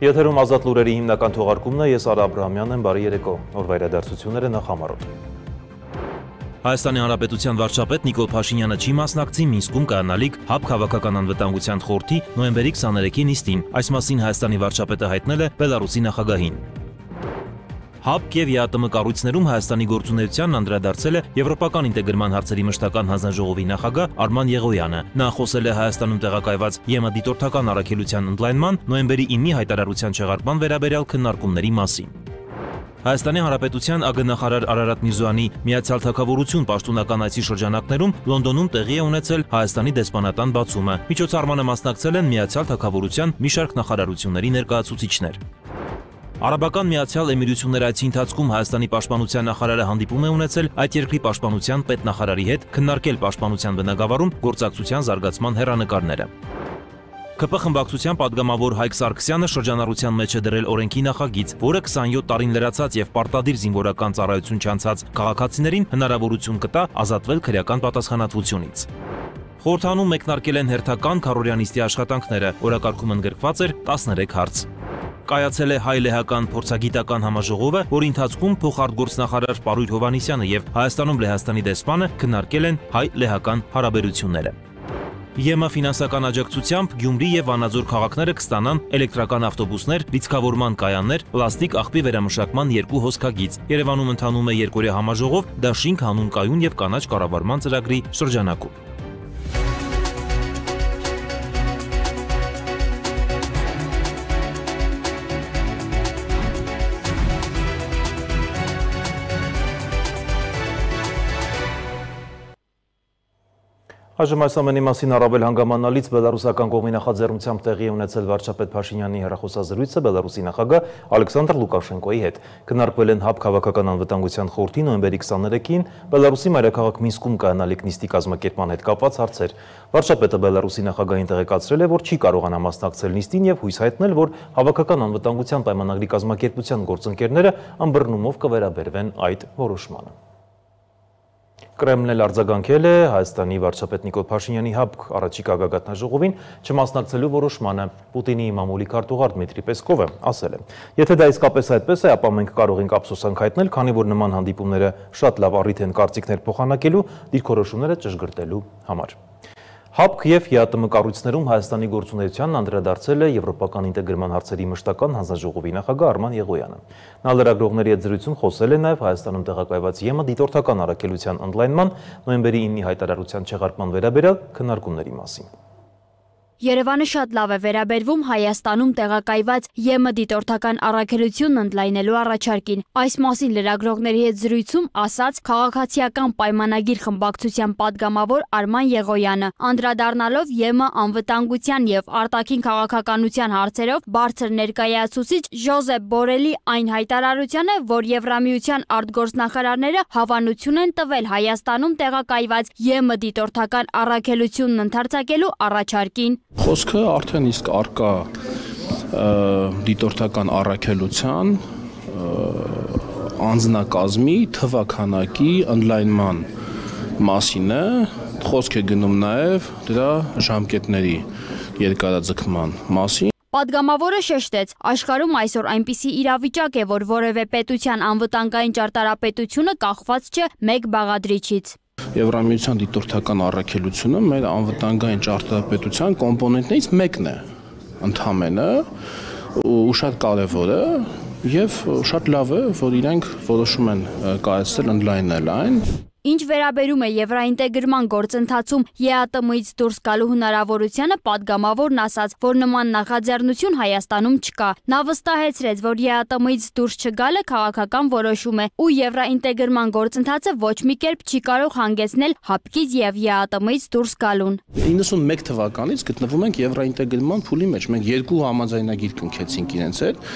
Եթերում ազատ լուրերի հիմնական թողարկումն է, ես Արա Աբրահամյանն եմ, բարի երեկո, օրվա իրադարձությունները նախ համարոտ։ Հայաստանի Հանրապետության վարչապետ Նիկոլ Փաշինյանը չի մասնակցի Մինսկում կայանալիք ՀԱԲ քաղաքական անվտանգության խորհրդի նոյեմբերի 23-ի նիստին, այս մասին Հայաստանի վարչապետը հայտնել է Բելարուսի նախագահին։ ՀԱԲ և ԵԱՏՄ կառույցներում Հայաստանի գործունեությանն անդրադարձել է Եվրոպական ինտեգրման հարցերի մշտական հանձնաժողովի նախագահ Արման Եղոյանը։ Նա խոսել է Հայաստանում տեղակայված ԵՄ դիտորդական առաքելության ընդլայնման նոյեմբերի 9-ի հայտարարության չեղարկման վերաբերյալ քննարկումների մասին։ Հայաստանի Հանրապետության ԱԳ նախարար Արարատ Միրզոյանի Միացյալ Թագավորություն պաշտոնական այցի շրջանակներում Լոնդոնում տեղի է ունեցել Հայաստանի դեսպանատան բացումը։ Միջոցառմանը մասնակցել են Միացյալ Թագավորության մի շարք նախարարությունների ներկայացուցիչներ։ Արաբական Միացյալ Էմիրությունների այցի ընթացքում Հայաստանի պաշտպանության նախարարը հանդիպում է ունեցել այդ երկրի պաշտպանության պետնախարարի հետ, քննարկել պաշտպանության բնագավառում գործակցության զարգացման հեռանկարները։ ԿՊ խմբակցության падգամավոր Հայկ Սարգսյանը շրջանառության մեջ է դրել օրենքի նախագիծ, որը 27 տարին լրացած եւ պարտադիր զինվորական ծառայություն չանցած քաղաքացիներին հնարավորություն կտա ազատվել քրեական պատասխանատվությունից։ Խորհրդանում մեկնարկել են հերթական քառօրյա աշխատանքները, օրակարգում ընդգրկված էր 13 հարց։ Կայացել է հայ-լեհական փորձագիտական համաժողովը, որի ընթացքում փոխարտգործնախարար Պարույր Հովհաննիսյանը եւ Հայաստանում Լեհաստանի դեսպանը քննարկել են հայ-լեհական հարաբերությունները։ ԵՄ ֆինանսական աջակցությամբ Գյումրի եւ Վանաձոր քաղաքները կստանան էլեկտրական ավտոբուսներ, լիցքավորման կայաններ, պլաստիկ աղբի վերամշակման 2 հոսքագիծ։ Երևանում ընթանում է երկօրյա համաժողով Դաշինք հանուն կայուն եւ կանաչ կառավարման ծրագրի շրջանակում։ Այժմ այս ամենի մասին առավել հանգամանալից բելարուսական կողմի նախաձեռնությամբ տեղի է ունեցել վարչապետ Փաշինյանի հեռախոսազրույցը Բելարուսի նախագահ Ալեքսանդր Լուկաշենկոյի հետ։ Քննարկվել են ՀԱԲ քաղաքական անվտանգության խորհրդի նոյեմբերի 23-ին Բելարուսի մայրաքաղաք Մինսկում կայանալիք նիստի կազմակերպման հետ կապված հարցեր։ Վարչապետը Բելարուսի նախագահին տեղեկացրել է, որ չի կարողանա մասնակցել նիստին եւ հույս հայտնել, որ հավաքական անվտանգության պայմանագրի կազմակերպության գործընկերները ըմբռնումով կվերաբերվեն այդ որոշմանը։ Կրեմլն էլ արձագանքել է Հայաստանի վարչապետ Նիկոլ Փաշինյանի ՀԱԲ առաջիկա գագաթնաժողովին չմասնակցելու որոշմանը։ Պուտինի մամուլի քարտուղար Դմիտրի Պեսկովը ասել է. Եթե դա իսկապես այդպես է, ապա մենք կարող ենք ափսոսանք հայտնել, քանի որ նման հանդիպումները շատ լավ առիթ են կարծիքներ փոխանակելու, դիրքորոշումները ճշգրտելու համար։ ՀԱԲ և ԵԱՏՄ կառույցներում Հայաստանի գործունեությանն անդրադարձել է Եվրոպական ինտեգրման հարցերի մշտական հանձնաժողովի նախագահ Արման Եղոյանը։ Նա լրագրողների հետ զրույցում խոսել է նաև Հայաստանում տեղակայված ԵՄ դիտորդական առաքելության ընդլայնման նոյեմբերի 9-ի հայտարարության չեղարկման վերաբերյալ քննարկումների մասին։ Երևանը շատ լավ է վերաբերվում Հայաստանում տեղակայված ԵՄ դիտորդական առաքելությունն ընդլայնելու առաջարկին։ Այս մասին լրագրողների հետ զրույցում ասաց քաղաքացիական պայմանագիր խմբակցության падգամավոր Արման Եղոյանը, անդրադառնալով ԵՄ անվտանգության եւ արտաքին քաղաքականության հարցերով բարձր ներկայացուցիչ Ժոզեփ Բորելի այն հայտարարությանը, որ Եվրամիության արտգործնախարարները հավանություն են տվել Հայաստանում տեղակայված ԵՄ դիտորդական առաքելությունն ընդարձակելու առաջարկին։ Խոսքը արդեն իսկ արկա դիտորդական առաքելության անձնակազմի թվականակի ընդլայնման մասին է, խոսք է գնում նաև դրա ժամկետների երկարաձգման մասին։ Պատգամավորը շեշտեց, աշխարհում այսօր այնպիսի իրավիճակ է, որ որևէ պետության անվտանգային ճարտարապետությունը կախված չէ մեկ բաղադրիչից։ Եվրամիության դիտորդական առաքելությունը մեր անվտանգային ճարտարապետության կոմպոնենտներից մեկն է, ընդհանրապես, ու շատ կարևոր է եւ շատ լավ է, որ իրենք որոշում են կայացնել ընդլայնել այն։ Ինչ վերաբերում է եվրաինտեգրման գործընթացում ԵԱՏՄ-ից դուրս գալու հնարավորությանը, падգամավորն ասաց, որ նման նախաձեռնություն Հայաստանում չկա։ Նա վստահեցրեց, որ ԵԱՏՄ-ից դուրս չգալը քաղաքական որոշում է ու եվրաինտեգրման գործընթացը ոչ մի կերպ չի կարող հանգեցնել ՀԱԲ-ից եւ ԵԱՏՄ-ից դուրս գալուն։ 91 թվականից գտնվում ենք եվրաինտեգրման փուլի մեջ։ Մենք երկու համաձայնագիր կնքեցինք իրենց հետ։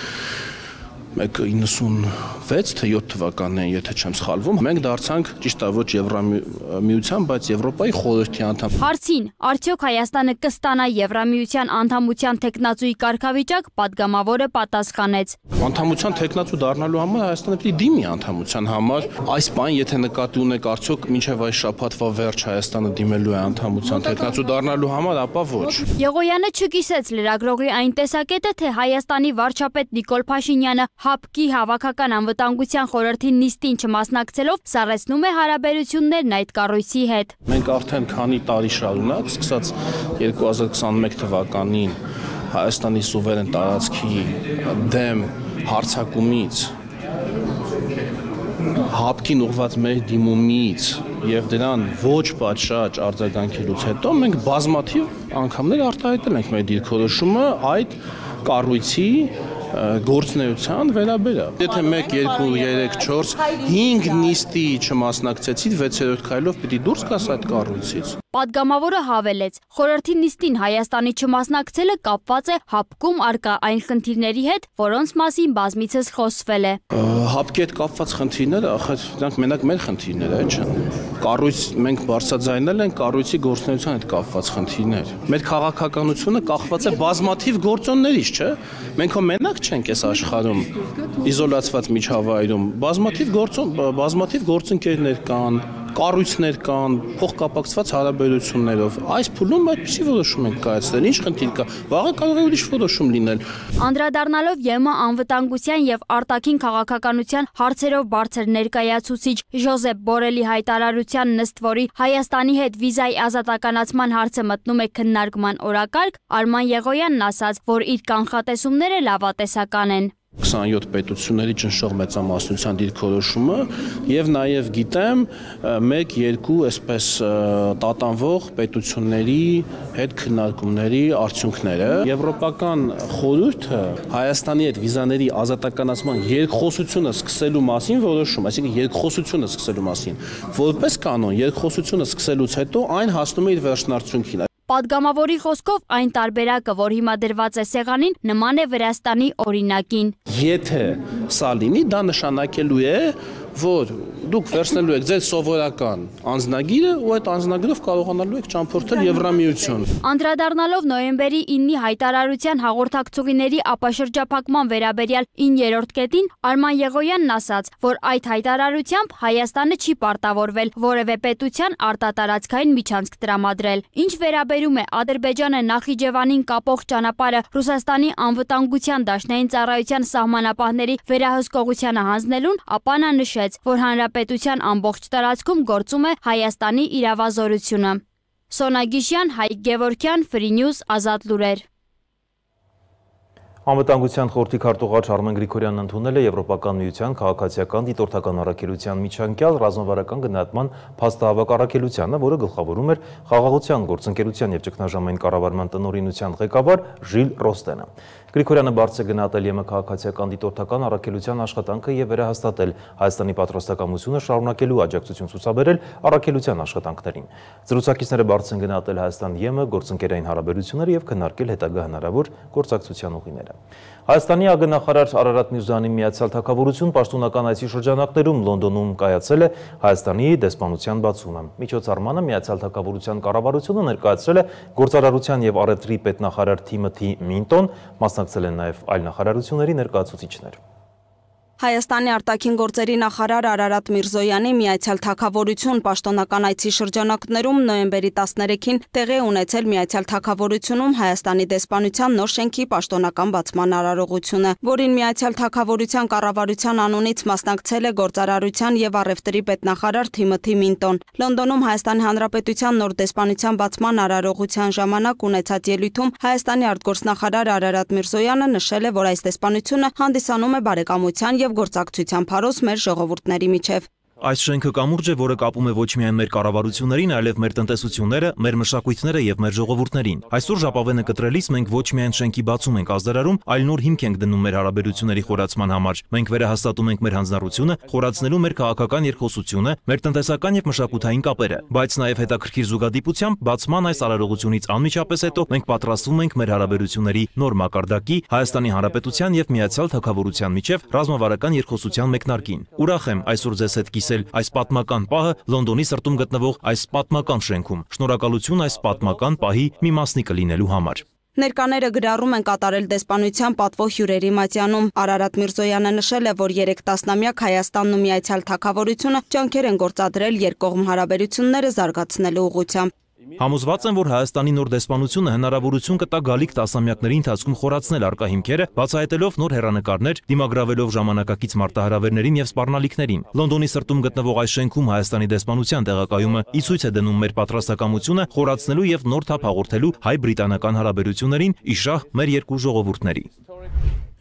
96 թե 7 թվականներին, եթե չեմ սխալվում, մենք դարձանք ճիշտ է ոչ Եվրամիության, բայց Եվրոպայի խորհրդի անդամ։ Հարցին, արդյոք Հայաստանը կստանա Եվրամիության անդամության թեկնածուի կարգավիճակ, падգամավորը պատասխանեց. Անդամության թեկնածու դառնալու համար Հայաստանը պետք է դիմի անդամության համար։ Այս բան, եթե նկատի ունեք, արդյոք մինչև այս շաբաթվա վերջ Հայաստանը դիմելու է անդամության թեկնածու դառնալու համար, ապա ոչ։ Եղոյանը չկիսեց լրագրողի այն տեսակետը, թե Հայաստանի վարչապետ Նիկոլ Փաշինյանը ՀԱՊԿ-ի հավաքական անվտանգության խորհրդի նիստին չմասնակցելով սառեցնում է հարաբերություններն այդ կառույցի հետ։ Մենք արդեն քանի տարի շարունակ, սկսած 2021 թվականին Հայաստանի սուվերեն տարածքի դեմ հարձակումից, ՀԱՊԿ-ին ուղղված մեր դիմումից եւ դրան ոչ պատշաճ արձագանքելուց հետո մենք բազմաթիվ անգամներ արտահայտել ենք մեր դիրքորոշումը այդ կառույցի գործնեության վերաբերյալ։ Եթե 1, 2, 3, 4, 5 նիստի չմասնակցեցիք, 6-րդ քայլով պիտի դուրս գաս այդ կառույցից։ Պատգամավորը հավելեց, խորհրդի նիստին Հայաստանի չմասնակցելը կապված է ՀԱՊԿ-ում առկա այն խնդիրների հետ, որոնց մասին բազմիցս խոսվել է։ ՀԱՊԿ-ի հետ կապված խնդիրները, ախր դրանք մենակ մեր խնդիրները չեն։ Կառույց մենք բարձրաձայնել ենք կառույցի գործնեության հետ կապված խնդիրներ։ Մեր քաղաքականությունը կախված է բազմաթիվ գործոններից, չէ՞։ Մենք հո մենակ չենք այս աշխարհում իզոլացված միջավայրում, բազմաթիվ գործընկերներ կան, կառույցներ կան, փոխկապակցված հարաբերություններով։ Այս փուլում այդպիսի որոշում ենք կայացրել։ Ինչ խնդիր կա։ Վաղը կարող է ուրիշ որոշում լինել։ Անդրադառնալով ԵՄ անվտանգության եւ արտաքին քաղաքականության հարցերով բարձր ներկայացուցիչ Ժոզեփ Բորելի հայտարարության նստ, որի Հայաստանի հետ վիզայի ազատականացման հարցը մտնում է քննարկման օրակարգ, Արման Եղոյանն ասաց, որ իր կանխատեսումները լավատեսական են։ 27 պետությունների ճնշող մեծամասնության դիրքորոշումը եւ նաեւ գիտեմ 1-2 այսպես տատանվող պետությունների հետ քննարկումների արդյունքները։ Եվրոպական խորհուրդը Հայաստանի հետ վիզաների ազատականացման երկխոսությունը սկսելու մասին որոշում, այսինքն երկխոսությունը սկսելու մասին, որպես կանոն երկխոսությունը սկսելուց հետո այն հասնում է իր վերջնարդյունքին։ Պատգամավորի խոսքով այն տարբերակը, որ հիմա դրված է սեղանին, նման է Վրաստանի օրինակին։ Եթե սա լինի, դա նշանակելու է, որ դուք վերցնելու եք ձեր սովորական անձնագիրը ու այդ անձնագրով կարողանալու եք ճամփորդել Եվրամիություն։ Անդրադառնալով նոյեմբերի 9-ի հայտարարության հաղորդակցուղիների ապաշրջափակման վերաբերյալ 9-րդ կետին, Արման Եղոյանն ասաց, որ այդ հայտարարությամբ Հայաստանը չի պարտավորվել որևէ պետության արտատարածքային միջանցք տրամադրել։ Ինչ վերաբերում է Ադրբեջանը Նախիջևանին կապող ճանապարհը Ռուսաստանի անվտանգության դաշնային ծառայության սահմանապահների վերահսկողությանը հանձնելուն, ապա նա նշեց, որ հանրապետության ամբողջ տարածքում գործում է Հայաստանի իրավազորությունը։ Սոնա Գիշյան, Հայկ Գևորգյան, Free News, Ազատ լուրեր։ Անվտանգության խորհրդի քարտուղար Արմեն Գրիգորյանն ընդունել է Եվրոպական միության քաղաքացիական դիտորդական առաքելության միջանկյալ ռազմավարական գնահատման փաստահավաք առաքելությանը, որը գլխավորում էր խաղաղության, գործընկերության եւ ճգնաժամային կառավարման տնօրինության ղեկավար Ժիլ Ռոստենը։ Գրիգորյանը բարձր է գնահատել ԵՄ քաղաքացիական դիտորդական առաքելության աշխատանքը եւ վերահաստատել Հայաստանի պատրաստակամությունը շարունակելու աջակցություն ցուցաբերել առաքելության աշխատանքներին։ Զրուցակիցները բարձր են գնահատել Հայաստան-ԵՄ գործընկերային հարաբերությունները եւ քննարկել հետագա հնարավոր գործակցության ուղիները։ Հայաստանի ԱԳ-նախարար Արարատ Միրզոյանի Միացյալ Թագավորություն պաշտոնական այցի շրջանակներում Լոնդոնում կայացել է Հայաստանի դեսպանության բացումը։ Միջոցառմանը Միացյալ Թագավորության կառավարությունը ներկայացրել է գործարարության եւ առևտրի պետնախարար Թիմոթի Մինտոն, մասնակցել են նաեւ այլ նախարարությունների ներկայացուցիչներ։ Հայաստանի արտաքին գործերի նախարար Արարատ Միրզոյանի Միացյալ Թագավորություն պաշտոնական այցի շրջանակներում նոյեմբերի 13-ին տեղի ունեցել Միացյալ Թագավորությունում Հայաստանի դեսպանության նոր շենքի պաշտոնական բացման արարողությունը, որին Միացյալ Թագավորության կառավարության անունից մասնակցել է գործարարության եւ առևտրի պետնախարար Թիմոթի Մինտոն։ Լոնդոնում Հայաստանի Հանրապետության նոր դեսպանության բացման արարողության ժամանակ ունեցած ելույթում Հայաստանի արտգործնախարար Արարատ Միրզոյանը նշել է, որ այս դեսպանությունը հանդիսանում է բարեկամության եւ գործակցության փարոս մեր ժողովուրդների միջև։ Այս շենքը կամուրջ է, որը կապում է ոչ միայն մեր կառավարություններին, այլև մեր տնտեսությունները, մեր մշակույթները եւ մեր ժողովուրդներին։ Այսօր ժապավենը կտրելիս մենք ոչ միայն շենքի բացում ենք ազդարարում, այլ նոր հիմք ենք դնում մեր հարաբերությունների խորացման համար։ Մենք վերահաստատում ենք մեր հանձնառությունը, խորացնելու մեր քաղաքական երկխոսությունը, մեր տնտեսական եւ մշակութային կապերը, բայց նաեւ հետաքրքիր զուգադիպությամբ բացման այս արարողությունից անմիջապես հետո մենք պատրաստվում ենք մեր հարաբերությունների նոր մակարդակի Հայաստանի Հանրապետության եւ Միացյալ Թագավորության միջև ռազմավարական երկխոսության մեկնարկին։ Ուրախ եմ այսօր ձեզ հետ կիսել այս պատմական պահը Լոնդոնի սրտում գտնվող այս պատմական շենքում։ Շնորհակալություն այս պատմական պահի մի մասնիկը լինելու համար։ Ներկաները գրառում են կատարել դեսպանության պատվո հյուրերի մատյանում։ Արարատ Միրզոյանը նշել է, որ 3 տասնամյակ Հայաստանն ու Միացյալ Թագավորությունը ջանքեր են գործադրել երկկողմ հարաբերությունները զարգացնելու ուղղությամբ։ Համոզված եմ, որ Հայաստանի նոր դեսպանությունը հնարավորություն կտա գալիք տասնամյակների ընթացքում խորացնել առկա հիմքերը, բացահայտելով նոր հեռանկարներ, դիմագրավելով ժամանակակից մարտահրավերներին եւ սպառնալիքներին։ Լոնդոնի սրտում գտնվող այս շենքում Հայաստանի դեսպանության տեղակայումը ի ցույց է դնում մեր պատրաստակամությունը խորացնելու եւ նոր թափ հաղորդելու հայ-բրիտանական հարաբերություններին ի շահ մեր երկու ժողովուրդների։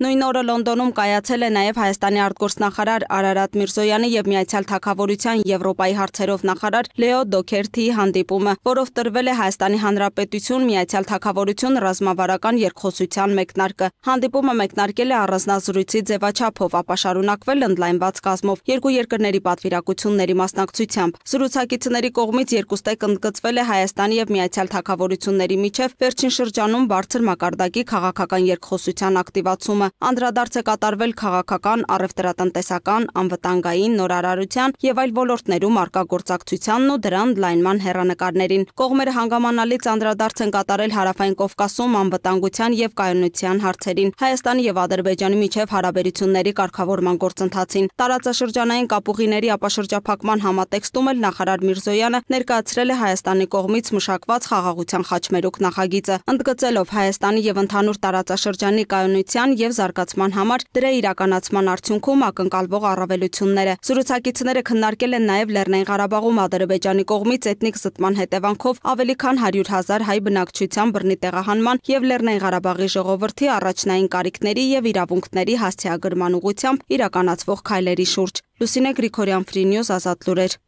Նույն օրը Լոնդոնում կայացել է նաև Հայաստանի արտգործնախարար Արարատ Միրզոյանի եւ Միացյալ Թագավորության Եվրոպայի հարցերով նախարար Լեո Դոքերթիի հանդիպումը, որով տրվել է Հայաստանի Հանրապետություն Միացյալ Թագավորություն ռազմավարական երկխոսության մեկնարկը։ Հանդիպումը մեկնարկել է առանձնազրույցի ձևաչափով, ապա շարունակվել ընդլայնված կազմով երկու երկրների պատվիրակությունների մասնակցությամբ։ Զրուցակիցների կողմից երկուստեք ընդգծվել է Հայաստանի եւ Միացյալ Թագավորությունների միջև վերջին շրջանում բարձր մակարդակի քաղաքական երկխոսության ակտիվացումը։ Անդրադարձ է կատարվել քաղաքական, առևտրատնտեսական, անվտանգային, նորարարության եւ այլ ոլորտներում առկա գործակցությանն ու դրա ընդլայնման հեռանկարներին։ Կողմերը հանգամանալից անդրադարձ են կատարել Հարավային Կովկասում անվտանգության եւ կայունության հարցերին, Հայաստանի եւ Ադրբեջանի միջև հարաբերությունների կարգավորման գործընթացին։ Տարածաշրջանային կապուղիների ապաշրջափակման համատեքստում էլ նախարար Միրզոյանը ներկայացրել է Հայաստանի կողմից մշակված խաղաղության խաչմերուկ նախագիծը, ընդգծելով Հայաստանի եւ ընդհանուր տարածաշրջանի կայունության եւ զարգացման համար դրա իրականացման արդյունքում ակնկալվող առավելությունները։ Զրուցակիցները քննարկել են նաև Լեռնային Ղարաբաղում Ադրբեջանի կողմից էթնիկ զտման հետևանքով ավելի քան 100,000 հայ բնակչության բռնի տեղահանման եւ Լեռնային Ղարաբաղի ժողովրդի առաջնային կարիքների եւ իրավունքների հասցեագրման ուղղությամբ իրականացվող քայլերի շուրջ։ Լուսինե Գրիգորյան, Free News, Ազատ լուրեր։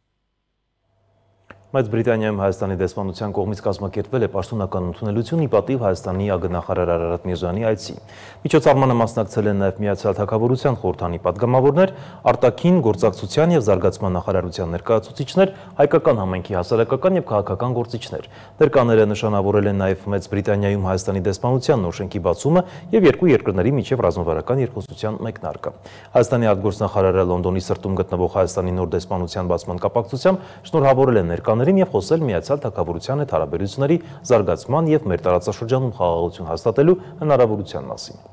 Մեծ Բրիտանիայում Հայաստանի դեսպանության կողմից կազմակերպվել է պաշտոնական ընդունելություն ի պատիվ Հայաստանի ԱԳ-նախարար Արարատ Միրզոյանի այցի։ Միջոցառմանը մասնակցել են նաև Միացյալ Թագավորության խորհրդանի պատգամավորներ, արտաքին գործակցության եւ զարգացման նախարարության ներկայացուցիչներ, հայկական համայնքի հասարակական եւ քաղաքական գործիչներ։ Ներկաները նշանավորել են նաև Մեծ Բրիտանիայում Հայաստանի դեսպանության նոր շենքի բացումը եւ երկու երկրների միջև ռազմավարական երկխոսության մեկնարկը։ Հայաստանի արտգործնախարարը Լոնդոնի սրտում գտնվող Հայաստանի նոր դեսպանության բացման կապակցությամբ շնորհավորել է ներկաներին եւ խոսել Միացյալ Թագավորության հետ հարաբերությունների զարգացման եւ մեր տարածաշրջանում խաղաղություն հաստատելու հնարավորության մասին։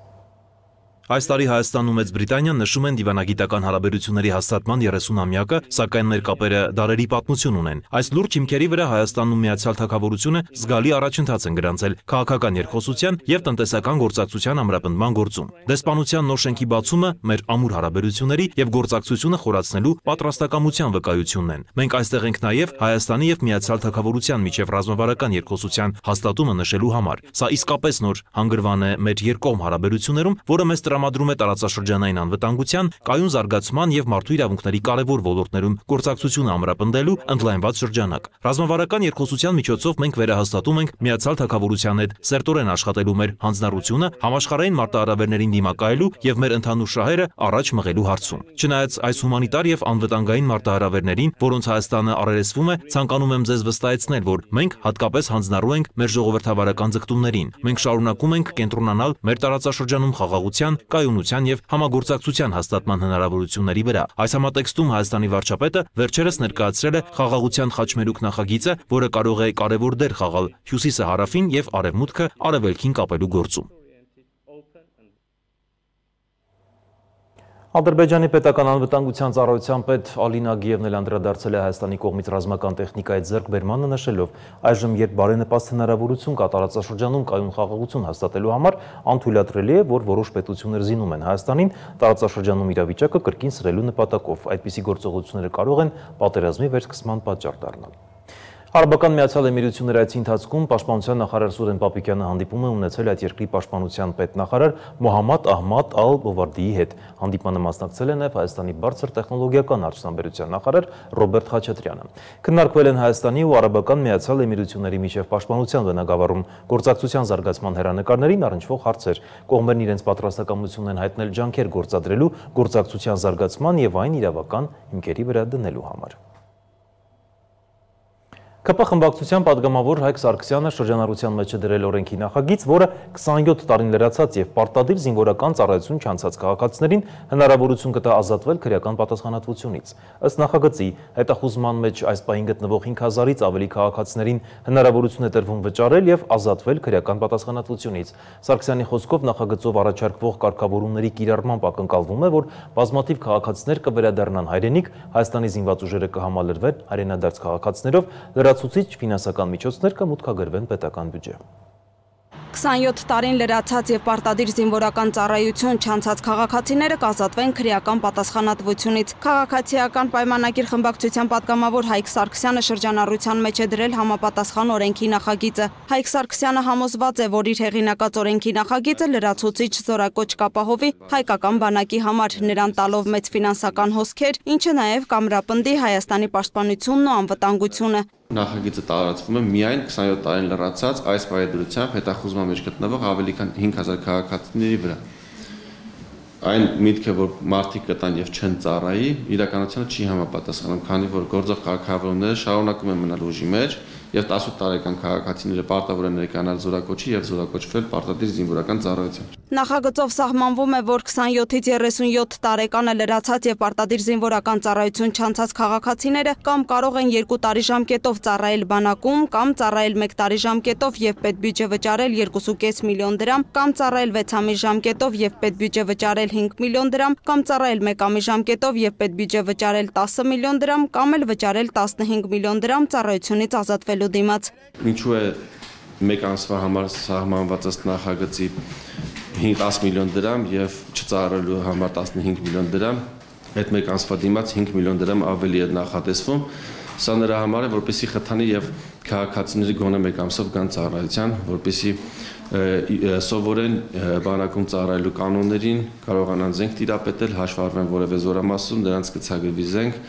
Այս տարի Հայաստանն ու Մեծ Բրիտանիան նշում են դիվանագիտական հարաբերությունների հաստատման 30-ամյակը, սակայն մեր կապերը դարերի պատմություն ունեն։ Այս լուրջ հիմքերի վրա Հայաստանն ու Միացյալ Թագավորությունը զգալի առաջընթաց են գրանցել քաղաքական երկխոսության եւ տնտեսական գործակցության ամրապնդման գործում։ Դեսպանության նոր շենքի բացումը մեր ամուր հարաբերությունների եւ գործակցությունը խորացնելու պատրաստակամության վկայությունն են։ Մենք այստեղ ենք նաեւ Հայաստանի եւ Միացյալ Թագավորության միջև ռազմավարական երկխոսության հաստատումը նշելու համար։ Սա իսկապես նոր հանգրվան է մեր երկկողմ հարաբերություններում, որը մեզ տրամադրում է տարածաշրջանային անվտանգության, կայուն զարգացման եւ մարդու իրավունքների կարևոր ոլորտներում գործակցությունը ամրապնդելու ընդլայնված շրջանակ։ Ռազմավարական երկխոսության միջոցով մենք վերահաստատում ենք Միացյալ Թագավորության հետ սերտորեն աշխատելու մեր հանձնառությունը համաշխարհային մարտահրավերներին դիմակայելու եւ մեր ընդհանուր շահերը առաջ մղելու հարցում։ Չնայած այս հումանիտար եւ անվտանգային մարտահրավերներին, որոնց Հայաստանը առերեսվում է, ցանկանում եմ ձեզ վստահեցնել, որ մենք հատկապես հանձնառու ենք մեր ժողովրդավարական ձգտումներին։ Մենք շարունակում ենք կենտրոնանալ մեր տարածաշրջանում խաղաղության, կայունության եւ համագործակցության հաստատման հնարավորությունների վրա։ Այս համատեքստում Հայաստանի վարչապետը վերջերս ներկայացրել է խաղաղության խաչմերուկ նախագիծը, որը կարող է կարևոր դեր խաղալ Հյուսիսը հարավին եւ Արևմուտքը արևելքին կապելու գործում։ Ադրբեջանի պետական անվտանգության ծառայության պետ Ալինա Գիևն էլ անդրադարձել է Հայաստանի կողմից ռազմական տեխնիկայի ձեռքբերմանը, նշելով, այժմ երբ բարենպաստ հնարավորություն կա տարածաշրջանում կայուն խաղաղություն հաստատելու համար, անթույլատրելի է, որ որոշ պետություններ զինում են Հայաստանին տարածաշրջանում իրավիճակը կրկին սրելու նպատակով։ Այդպիսի գործողությունները կարող են պատերազմի վերսկսման պատճառ դառնալ։ Արաբական Միացյալ Էմիրությունների այցի ընթացքում պաշտպանության նախարար Սուրեն Պապիկյանը հանդիպում է ունեցել այդ երկրի պաշտպանության պետնախարար Մոհամմադ Ահմադ Ալ-Բովարդիի հետ։ Հանդիպմանը մասնակցել է նաև Հայաստանի բարձր տեխնոլոգիական արդյունաբերության նախարար Ռոբերտ Խաչատրյանը։ Քննարկվել են Հայաստանի ու Արաբական Միացյալ Էմիրությունների միջև պաշտպանության բնագավառում գործակցության զարգացման հեռանկարներին առնչվող հարցեր։ Կողմերն իրենց պատրաստակամություն են հայտնել ջանքեր գործադրելու գործակցության զարգացման եւ այն իրավական հիմքերի վրա դնելու համար։ ԿՊ խմբակցության падգամավոր Հայկ Սարգսյանը շրջանառության մեջ է դրել օրենքի նախագիծ, որը 27 տարին լրացած եւ պարտադիր զինվորական ծառայություն չանցած քաղաքացիներին հնարավորություն կտա ազատվել քրեական պատասխանատվությունից։ Ըստ նախագծի, հետախուզման մեջ այս պահին գտնվող 5000-ից ավելի քաղաքացիներին հնարավորություն է տրվում վճարել եւ ազատվել քրեական պատասխանատվությունից։ Սարգսյանի խոսքով նախագծով առաջարկվող կարգավորումների կիրառմամբ ակնկալվում է, որ բազմաթիվ քաղաքացիներ կվերադառնան հայրենիք, Հայաստանի զինված ուժերը կհամալրվեն հայրենադարձ քաղաքացիներով, լրացուցիչ ֆինանսական միջոցներ կմուտքագրվեն պետական բյուջե։ 27 տարին լրացած եւ պարտադիր զինվորական ծառայություն չանցած քաղաքացիները կազատվեն քրեական պատասխանատվությունից։ Քաղաքացիական պայմանագիր խմբակցության падգամավոր Հայկ Սարգսյանը շրջանառության մեջ է դրել համապատասխան օրենքի նախագիծը։ Հայկ Սարգսյանը համոզված է, որ իր հեղինակած օրենքի նախագիծը լրացուցիչ զորակոչ կապահովի հայկական բանակի համար, նրան տալով մեծ ֆինանսական հոսքեր, ինչը նաեւ կամրապնդի Հայաստանի պաշտպանությունն ու անվտանգությունը։ Նախագիծը տարածվում է միայն 27 տարին լրացած այս պայմանությամբ հետախուզման մեջ գտնվող ավելի քան 5000 քաղաքացիների վրա։ Այն միտքը, որ մարդիկ կտան եւ չեն ծառայի, իրականությանը չի համապատասխանում, քանի որ գործող քաղաքավորումները շարունակում են մնալ ուժի մեջ եւ 18 տարեկան քաղաքացիները պարտավոր են ներկայանալ զորակոչի եւ զորակոչվել պարտադիր զինվորական ծառայության։ Նախագծով սահմանվում է, որ 27-ից 37 տարեկանը լրացած եւ պարտադիր զինվորական ծառայություն չանցած քաղաքացիները կամ կարող են 2 տարի ժամկետով ծառայել բանակում, կամ ծառայել 1 տարի ժամկետով եւ պետբյուջե վճարել 2.5 միլիոն դրամ, կամ ծառայել 6 ամիս ժամկետով եւ պետբյուջե վճարել 5 միլիոն դրամ, կամ ծառայել 1 ամիս ժամկետով եւ պետբյուջե վճարել 10 միլիոն դրամ, կամ էլ վճարել 15 միլիոն դրամ ծառայությունից ազատվելու դիմաց։ Ինչու է 1 ամսվա համար սահմանված ըստ նախագծի 10 միլիոն դրամ եւ չծառայելու համար 15 միլիոն դրամ, այդ 1 ամսվա դիմաց 5 միլիոն դրամ ավելի է նախատեսվում։ Սա նրա համար է, որպեսզի խթանի եւ քաղաքացիները գոնե 1 ամսով գան ծառայության, որպեսզի սովորեն բանակում ծառայելու կանոններին, կարողանան զենք տիրապետել, հաշվառվեն որևէ զորամասում, նրանց կցագրվի զենք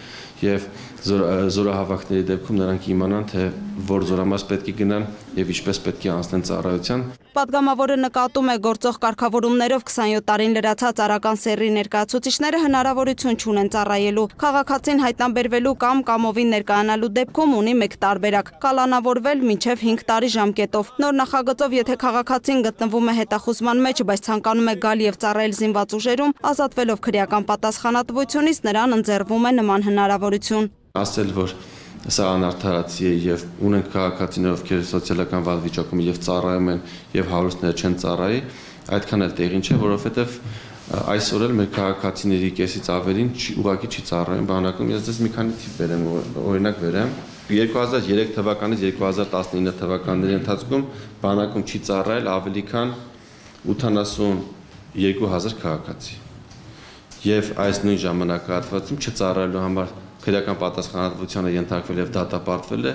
եւ զորահավաքների դեպքում նրանք իմանան, թե որ զորամաս պետք է գնան եւ ինչպես պետք է անցնեն ծառայության։ Պատգամավորը նկատում է, գործող կարգավորումներով 27 տարին լրացած արական սեռի ներկայացուցիչները հնարավորություն չունեն ծառայելու։ Քաղաքացին հայտնաբերվելու կամ կամովին ներկայանալու դեպքում ունի 1 տարբերակ՝ կալանավորվել մինչև 5 տարի ժամկետով։ Նոր նախագծով, եթե քաղաքացին գտնվում է հետախուզման մեջ, բայց ցանկանում է գալ եւ ծառայել զինված ուժերում, ազատվելով քրեական պատասխանատվությունից, նրան ընձեռվում է նման հնարավորություն։ Ասել, որ սա անարդարացի է եւ ունենք քաղաքացիներ, ովքեր սոցիալական վատ վիճակում եւ ծառայում են եւ հարուստները չեն ծառայի, այդքան էլ տեղին չէ, որովհետեւ այսօր էլ մեր քաղաքացիների կեսից ավելին ուղղակի չի ծառայում բանակում։ Ես դες մի քանի թիվ բերեմ, օրինակ բերեմ 2003 թվականից 2019 թվականների ընթացքում բանակում չի ծառայել ավելի քան 82000 քաղաքացի։ Եվ այս նույն ժամանակահատվածում չծառայելու համար քրեական պատասխանատվությանը ենթարկվել եւ դատապարտվել է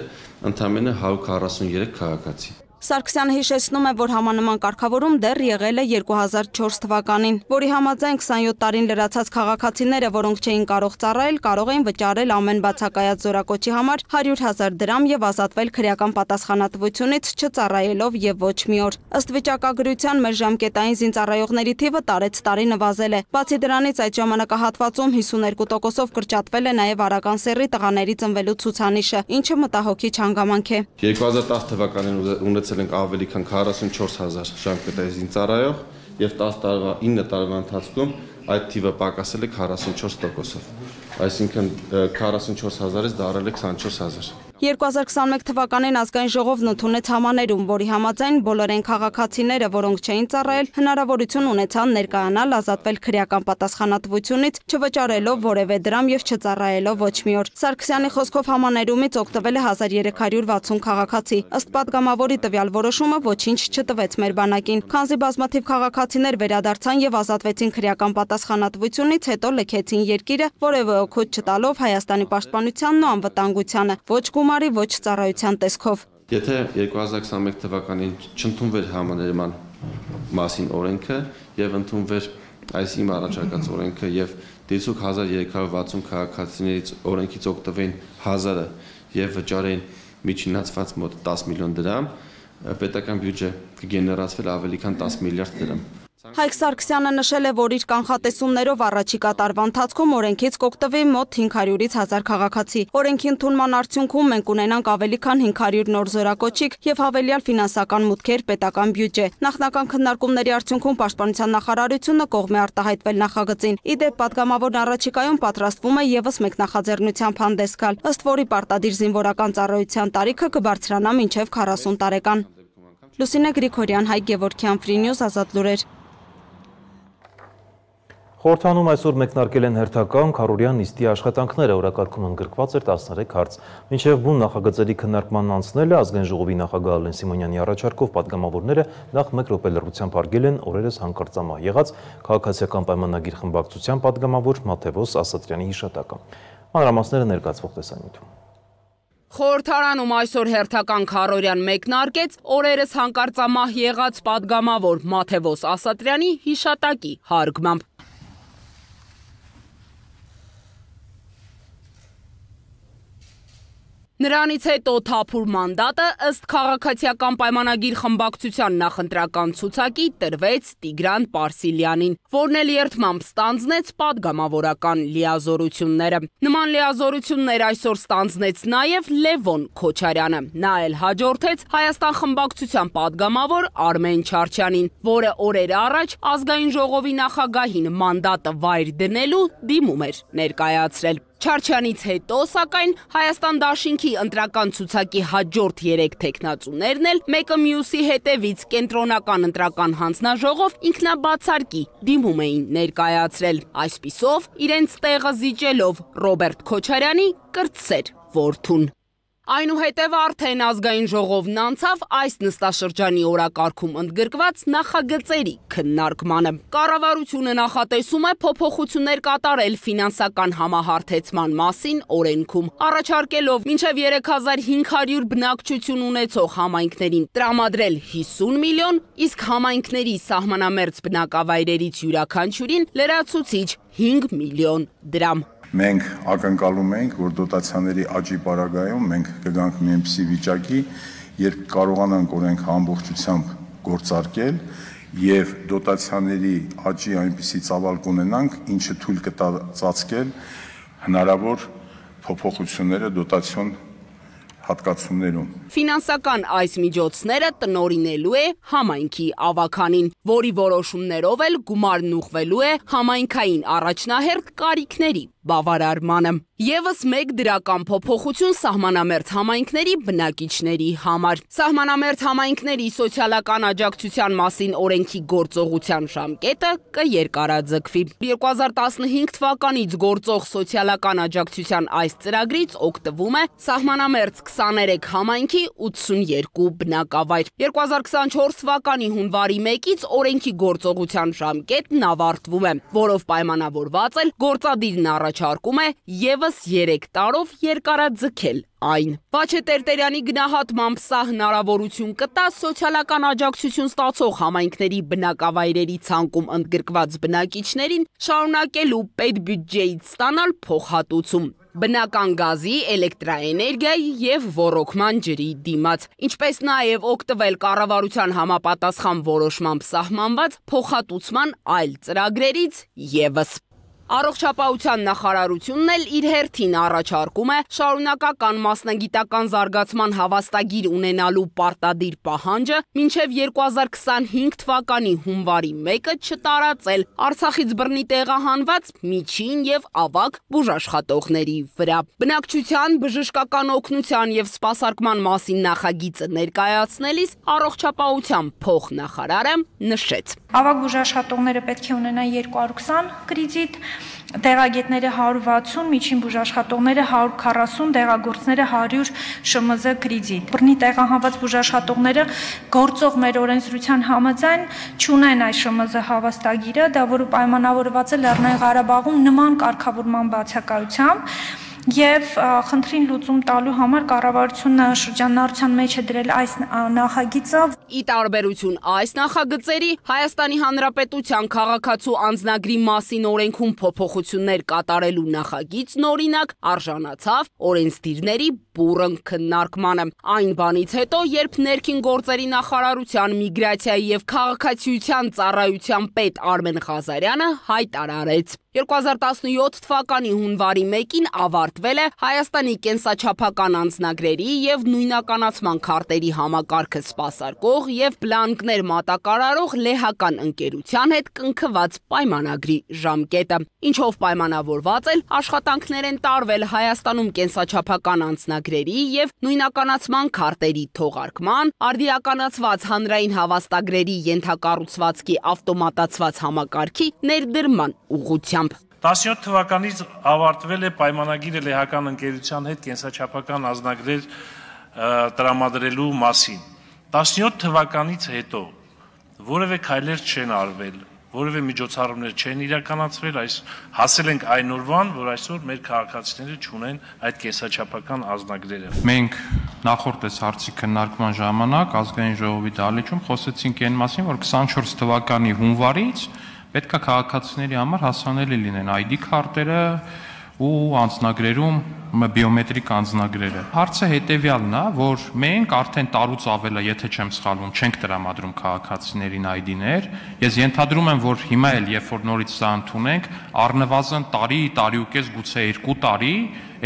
ընդամենը 143 քաղաքացի։ Սարգսյանը հիշեցնում է, որ համանման կարգավորում դեռ եղել է 2004 թվականին, որի համաձայն 27 տարին լրացած քաղաքացիները, որոնք չէին կարող ծառայել, կարող էին վճարել ամեն բացակայած զորակոչի համար 100,000 դրամ եւ ազատվել քրեական պատասխանատվությունից չծառայելով եւ ոչ մի օր։ Ըստ վիճակագրության մեր ժամկետային զինծառայողների թիվը տարեց տարի նվազել է։ Բացի դրանից այդ ժամանակահատվածում 52%-ով կրճատվել է նաեւ արական սեռի տղաների ծնվելու ցուցանիշը, ինչը մտահոգիչ հանգամանք է։ 2010 թվականին ունեցել ենք ավելի քան 44000 ժամկետային զինծառայող եւ 9 տարվա ընթացքում այդ թիվը պակասել է 44%-ով։ Այսինքն 44000-ից դարել է 24000։ 2021 թվականին ազգային ժողովն ընդունեց համաներում, որի համաձայն բոլոր այն քաղաքացիները, որոնք չէին ծառայել, հնարավորություն ունեցան ներկայանալ, ազատվել քրեական պատասխանատվությունից, չվճարելով որևէ դրամ եւ չծառայելով ոչ մի օր։ Սարգսյանի խոսքով համաներումից օգտվել է 1360 քաղաքացի։ Ըստ պատգամավորի տվյալ որոշումը ոչինչ չտվեց մեր բանակին, քանզի բազմաթիվ քաղաքացիներ վերադարձան եւ ազատվեցին քրեական պատասխանատվությունից, հետո լքեցին երկիրը, որևէ օգուտ չտալով Հայաստանի պաշտպանությանն ու անվտանգությանը։ Ոչ գումարի, ոչ ծառայության տեսքով։ Եթե 2021 թվականին չընդունվեր համաներման մասին օրենքը եւ ընդունվեր այս իմ առաջարկած օրենքը եւ դիցուկ 1360 քաղաքացիներից օրենքից օգտվեին 1000-ը եւ վճարեին միջինացված մոտ 10 միլիոն դրամ, պետական բյուջե կգեներացվեր ավելի քան 10 միլիարդ դրամ։ Հայկ Սարգսյանը նշել է, որ իր կանխատեսումներով առաջիկա տարվա ընթացքում օրենքից կօգտվի մոտ 500-ից 1000 քաղաքացի։ Օրենքի ընդունման արդյունքում մենք ունենանք ավելի քան 500 նոր զորակոչիկ եւ հավելյալ ֆինանսական մուտքեր պետական բյուջե։ Նախնական քննարկումների արդյունքում Պաշտպանության նախարարությունը կողմ է արտահայտվել նախագծին։ Իդեպ պատգամավորն առաջիկայում պատրաստվում է եւս մեկ նախաձեռնությամբ հանդես գալ, ըստ որի պարտադիր զինվորական ծառայության տարիքը կբարձրանա մինչեւ 40 տարեկան։ Լուսինե Գրիգորյան, Հայկ Գևորգյան, Free News, Ազատ լուրեր։ Խորհրդանում այսօր մեկնարկել են հերթական քառօրյա նիստի աշխատանքները, օրակարգում ընդգրկված էր 13 հարց։ Մինչև բուն նախագծերի քննարկմանն անցնելը ազգային ժողովի նախագահ Ալեն Սիմոնյանի առաջարկով պատգամավորները նախ 1 րոպե լռությամբ հարգել են օրերս հանկարծամահ եղած քաղաքացիական պայմանագիր խմբակցության պատգամավոր Մաթևոս Ասատրյանի հիշատակը։ Մանրամասները ներկայացվող տեսանյութում։ Խորհրդարանում այսօր հերթական քառօրյան մեկնարկեց օրերս հանկարծամահ եղած պատգամավոր Մաթևոս Ասատրյանի հիշատակի հարգմամբ։ Նրանից հետո թափուր մանդատը ըստ քաղաքացիական պայմանագիր խմբակցության նախընտրական ցուցակի տրվեց Տիգրան Պարսիլյանին, որն էլ երդմամբ ստանձնեց պատգամավորական լիազորությունները։ Նման լիազորություններ այսօր ստանձնեց նաև Լևոն Քոչարյանը։ Նա էլ հաջորդեց Հայաստան խմբակցության պատգամավոր Արմեն Չարչյանին, որը օրեր առաջ ազգային ժողովի նախագահին մանդատը վայր դնելու դիմում էր ներկայացրել։ Չարչյանից հետո, սակայն, Հայաստան դաշինքի ընտրական ցուցակի հաջորդ 3 թեկնածուներն էլ մեկը մյուսի հետևից կենտրոնական ընտրական հանձնաժողով ինքնաբացարկի դիմում էին ներկայացրել։ Այսպիսով, իրենց տեղը զիջելով Ռոբերտ Քոչարյանի կրտսեր որդուն։ Այնուհետև արդեն ազգային ժողովն անցավ այս նստաշրջանի օրակարգում ընդգրկված նախագծերի քննարկմանը։ Կառավարությունը նախատեսում է փոփոխություններ կատարել ֆինանսական համահարթեցման մասին օրենքում, առաջարկելով մինչև 3500 բնակչություն ունեցող համայնքներին տրամադրել 50 միլիոն, իսկ համայնքների սահմանամերձ բնակավայրերից յուրաքանչյուրին լրացուցիչ 5 միլիոն դրամ։ Մենք ակնկալում ենք, որ դոտացիաների աճի պարագայում մենք կգանք մի այնպիսի վիճակի, երբ կարողանանք օրենքը ամբողջությամբ գործարկել եւ դոտացիաների աճի այնպիսի ծավալ կունենանք, ինչը թույլ կտա ծածկել հնարավոր փոփոխությունները դոտացիոն հատկացումներում։ Ֆինանսական այս միջոցները տնօրինելու է համայնքի ավականին, որի որոշումներով էլ գումարն ուղղվելու է համայնքային առաջնահերթ կարիքների բավարարմանը։ Եվս մեկ դրական փոփոխություն սահմանամերձ համայնքների բնակիչների համար։ Սահմանամերձ համայնքների սոցիալական աջակցության մասին օրենքի գործողության ժամկետը կերկարաձգվի։ 2015 թվականից գործող սոցիալական աջակցության այս ծրագրից օգտվում է սահմանամերձ 23 համայնքի 82 բնակավայր։ 2024 թվականի հունվարի 1-ից օրենքի գործողության ժամկետն ավարտվում է, որով պայմանավորված էլ գործադիրն առաջարկում է եւս 3 տարով երկարաձգել այն։ Վաչե Տերտերյանի գնահատմամբ սա հնարավորություն կտա սոցիալական աջակցություն ստացող համայնքների բնակավայրերի ցանկում ընդգրկված բնակիչներին շարունակելու պետբյուջեից ստանալ փոխհատուցում բնական գազի, էլեկտրաէներգիայի եւ ոռոգման ջրի դիմաց, ինչպես նաեւ օգտվել կառավարության համապատասխան որոշմամբ սահմանված փոխհատուցման այլ ծրագրերից եւս։ Առողջապահության նախարարությունն էլ իր հերթին առաջարկում է շարունակական մասնագիտական զարգացման հավաստագիր ունենալու պարտադիր պահանջը մինչև 2025 թվականի հունվարի 1-ը չտարածել Արցախից բռնի տեղահանված միջին եւ ավագ բուժաշխատողների վրա։ Բնակչության բժշկական օգնության եւ սպասարկման մասին նախագիծը ներկայացնելիս առողջապահության փոխնախարարը նշեց. Ավագ բուժաշխատողները պետք է ունենան 220 կրեդիտ, տեղագետները 160, միջին բուժաշխատողները 140, դեղագործները 100 ՇՄԶ կրեդիտ։ Բռնի տեղահանված բուժաշխատողները գործող մեր օրենսդրության համաձայն չունեն այս ՇՄԶ հավաստագիրը, դա որը պայմանավորված է Լեռնային Ղարաբաղում նման կարգավորման բացակայությամբ, Եվ խնդրին լուծում տալու համար կառավարությունը շրջանառության մեջ է դրել այս նախագիծը։ Ի տարբերություն այս նախագծերի, Հայաստանի Հանրապետության քաղաքացու անձնագրի մասին օրենքում փոփոխություններ կատարելու նախագիծն օրինակ արժանացավ օրենսդիրների բուռն քննարկմանը։ Այն բանից հետո, երբ ներքին գործերի նախարարության միգրացիայի եւ քաղաքացիության ծառայության պետ Արմեն Ղազարյանը հայտարարեց. 2017 թվականի հունվարի 1-ին ավարտվել է Հայաստանի կենսաչափական անձնագրերի եւ նույնականացման քարտերի համակարգը սպասարկող եւ բլանկներ մատակարարող լեհական ընկերության հետ կնքված պայմանագրի ժամկետը, ինչով պայմանավորված էլ աշխատանքներ են տարվել Հայաստանում կենսաչափական անձնագրերի եւ նույնականացման քարտերի թողարկման, արդիականացված հանրային հավաստագրերի ենթակառուցվածքի ավտոմատացված համակարգի ներդրման ուղղությամբ։ 17 թվականից ավարտվել է պայմանագիրը լեհական ընկերության հետ կենսաչափական անձնագրեր տրամադրելու մասին։ 17 թվականից հետո որևէ քայլեր չեն արվել, որևէ միջոցառումներ չեն իրականացվել, հասել ենք այն օրվան, որ այսօր մեր քաղաքացիները չունեն այդ կենսաչափական անձնագրերը։ Մենք նախորդ հարցի քննարկման ժամանակ ազգային ժողովի դահլիճում խոսեցինք այն մասին, որ 24 թվականի հունվարից պետք է քաղաքացիների համար հասանելի լինեն ID քարտերը ու անձնագրերում բիոմետրիկ անձնագրերը։ Հարցը հետևյալն է, որ մենք արդեն տարուց ավել է, եթե չեմ սխալվում, չենք տրամադրում քաղաքացիներին ID-ներ։ Ես ենթադրում եմ, որ հիմա էլ երբ որ նորից սա ընդունենք, առնվազն տարի, տարի ու կես, գուցե 2 տարի,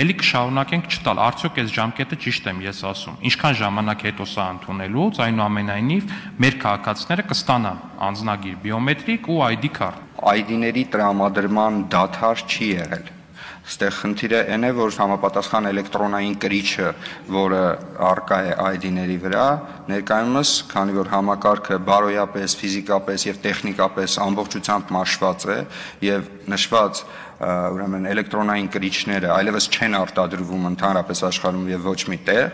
էլի կշարունակենք չտալ։ Արդյոք այս ժամկետը ճիշտ եմ ես ասում։ Ինչքան ժամանակ հետո սա ընդունելուց, այնուամենայնիվ մեր քաղաքացիները կստանան անձնագիր բիոմետրիկ ու ID քարտ։ ID-ների տրամադրման դադար չի եղել։ Ստեղ խնդիրը այն է, որ համապատասխան էլեկտրոնային կրիչը, որը առկա է ID-ների վրա, ներկայումս, քանի որ համակարգը բարոյապես, ֆիզիկապես եւ տեխնիկապես ամբողջությամբ մաշված է եւ նշված ուրեմն էլեկտրոնային կրիչները այլևս չեն արտադրվում ընդհանրապես աշխարհում եւ ոչ մի տեղ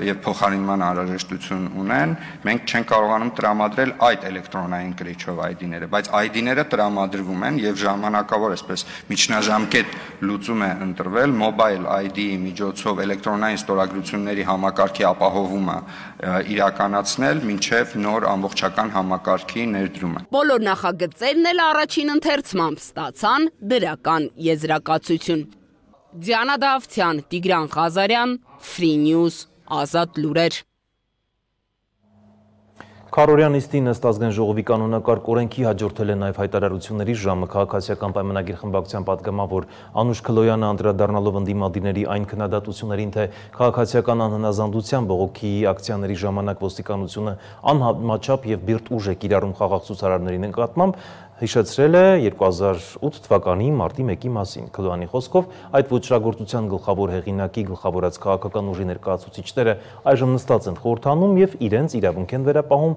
եւ փոխարինման անհրաժեշտություն ունեն, մենք չենք կարողանում տրամադրել այդ էլեկտրոնային կրիչով ID-ները, բայց ID-ները տրամադրվում են եւ ժամանակավոր այսպես միջնաժամկետ լուծում է ընտրվել Mobile ID-ի միջոցով էլեկտրոնային ստորագրությունների համակարգի ապահովումը իրականացնել մինչեւ նոր ամբողջական համակարգի ներդրումը։ Բոլոր նախագծերն էլ առաջին ընթերցմամբ ստացան դրական եզրակացություն։ Դիանա Դավթյան, Տիգրան Ղազարյան, Free News, Ազատ լուրեր։ Քարորյան նիստին ըստ ազգային ժողովի կանոնակարգ օրենքի հաջորդել է նաև հայտարարությունների ժամը քաղաքացիական պայմանագիր խմբակցության պատգամավոր Անուշ Քլոյանը անդրադառնալով ընդդիմադիրների այն քննադատություններին, թե քաղաքացիական անհնազանդության բողոքի ակցիաների ժամանակ ոստիկանությունը անհամաչափ եւ բիրտ ուժ է կիրառում խաղաղ ցուցարարների նկատմամբ, հիշեցրել է 2008 թվականի մարտի 1-ի մասին։ Քլոյանի խոսքով այդ ոճրագործության գլխավոր հեղինակի գլխավորած քաղաքական ուժի ներկայացուցիչները այժմ նստած են խորհրդանում եւ իրենց իրավունք են վերապահում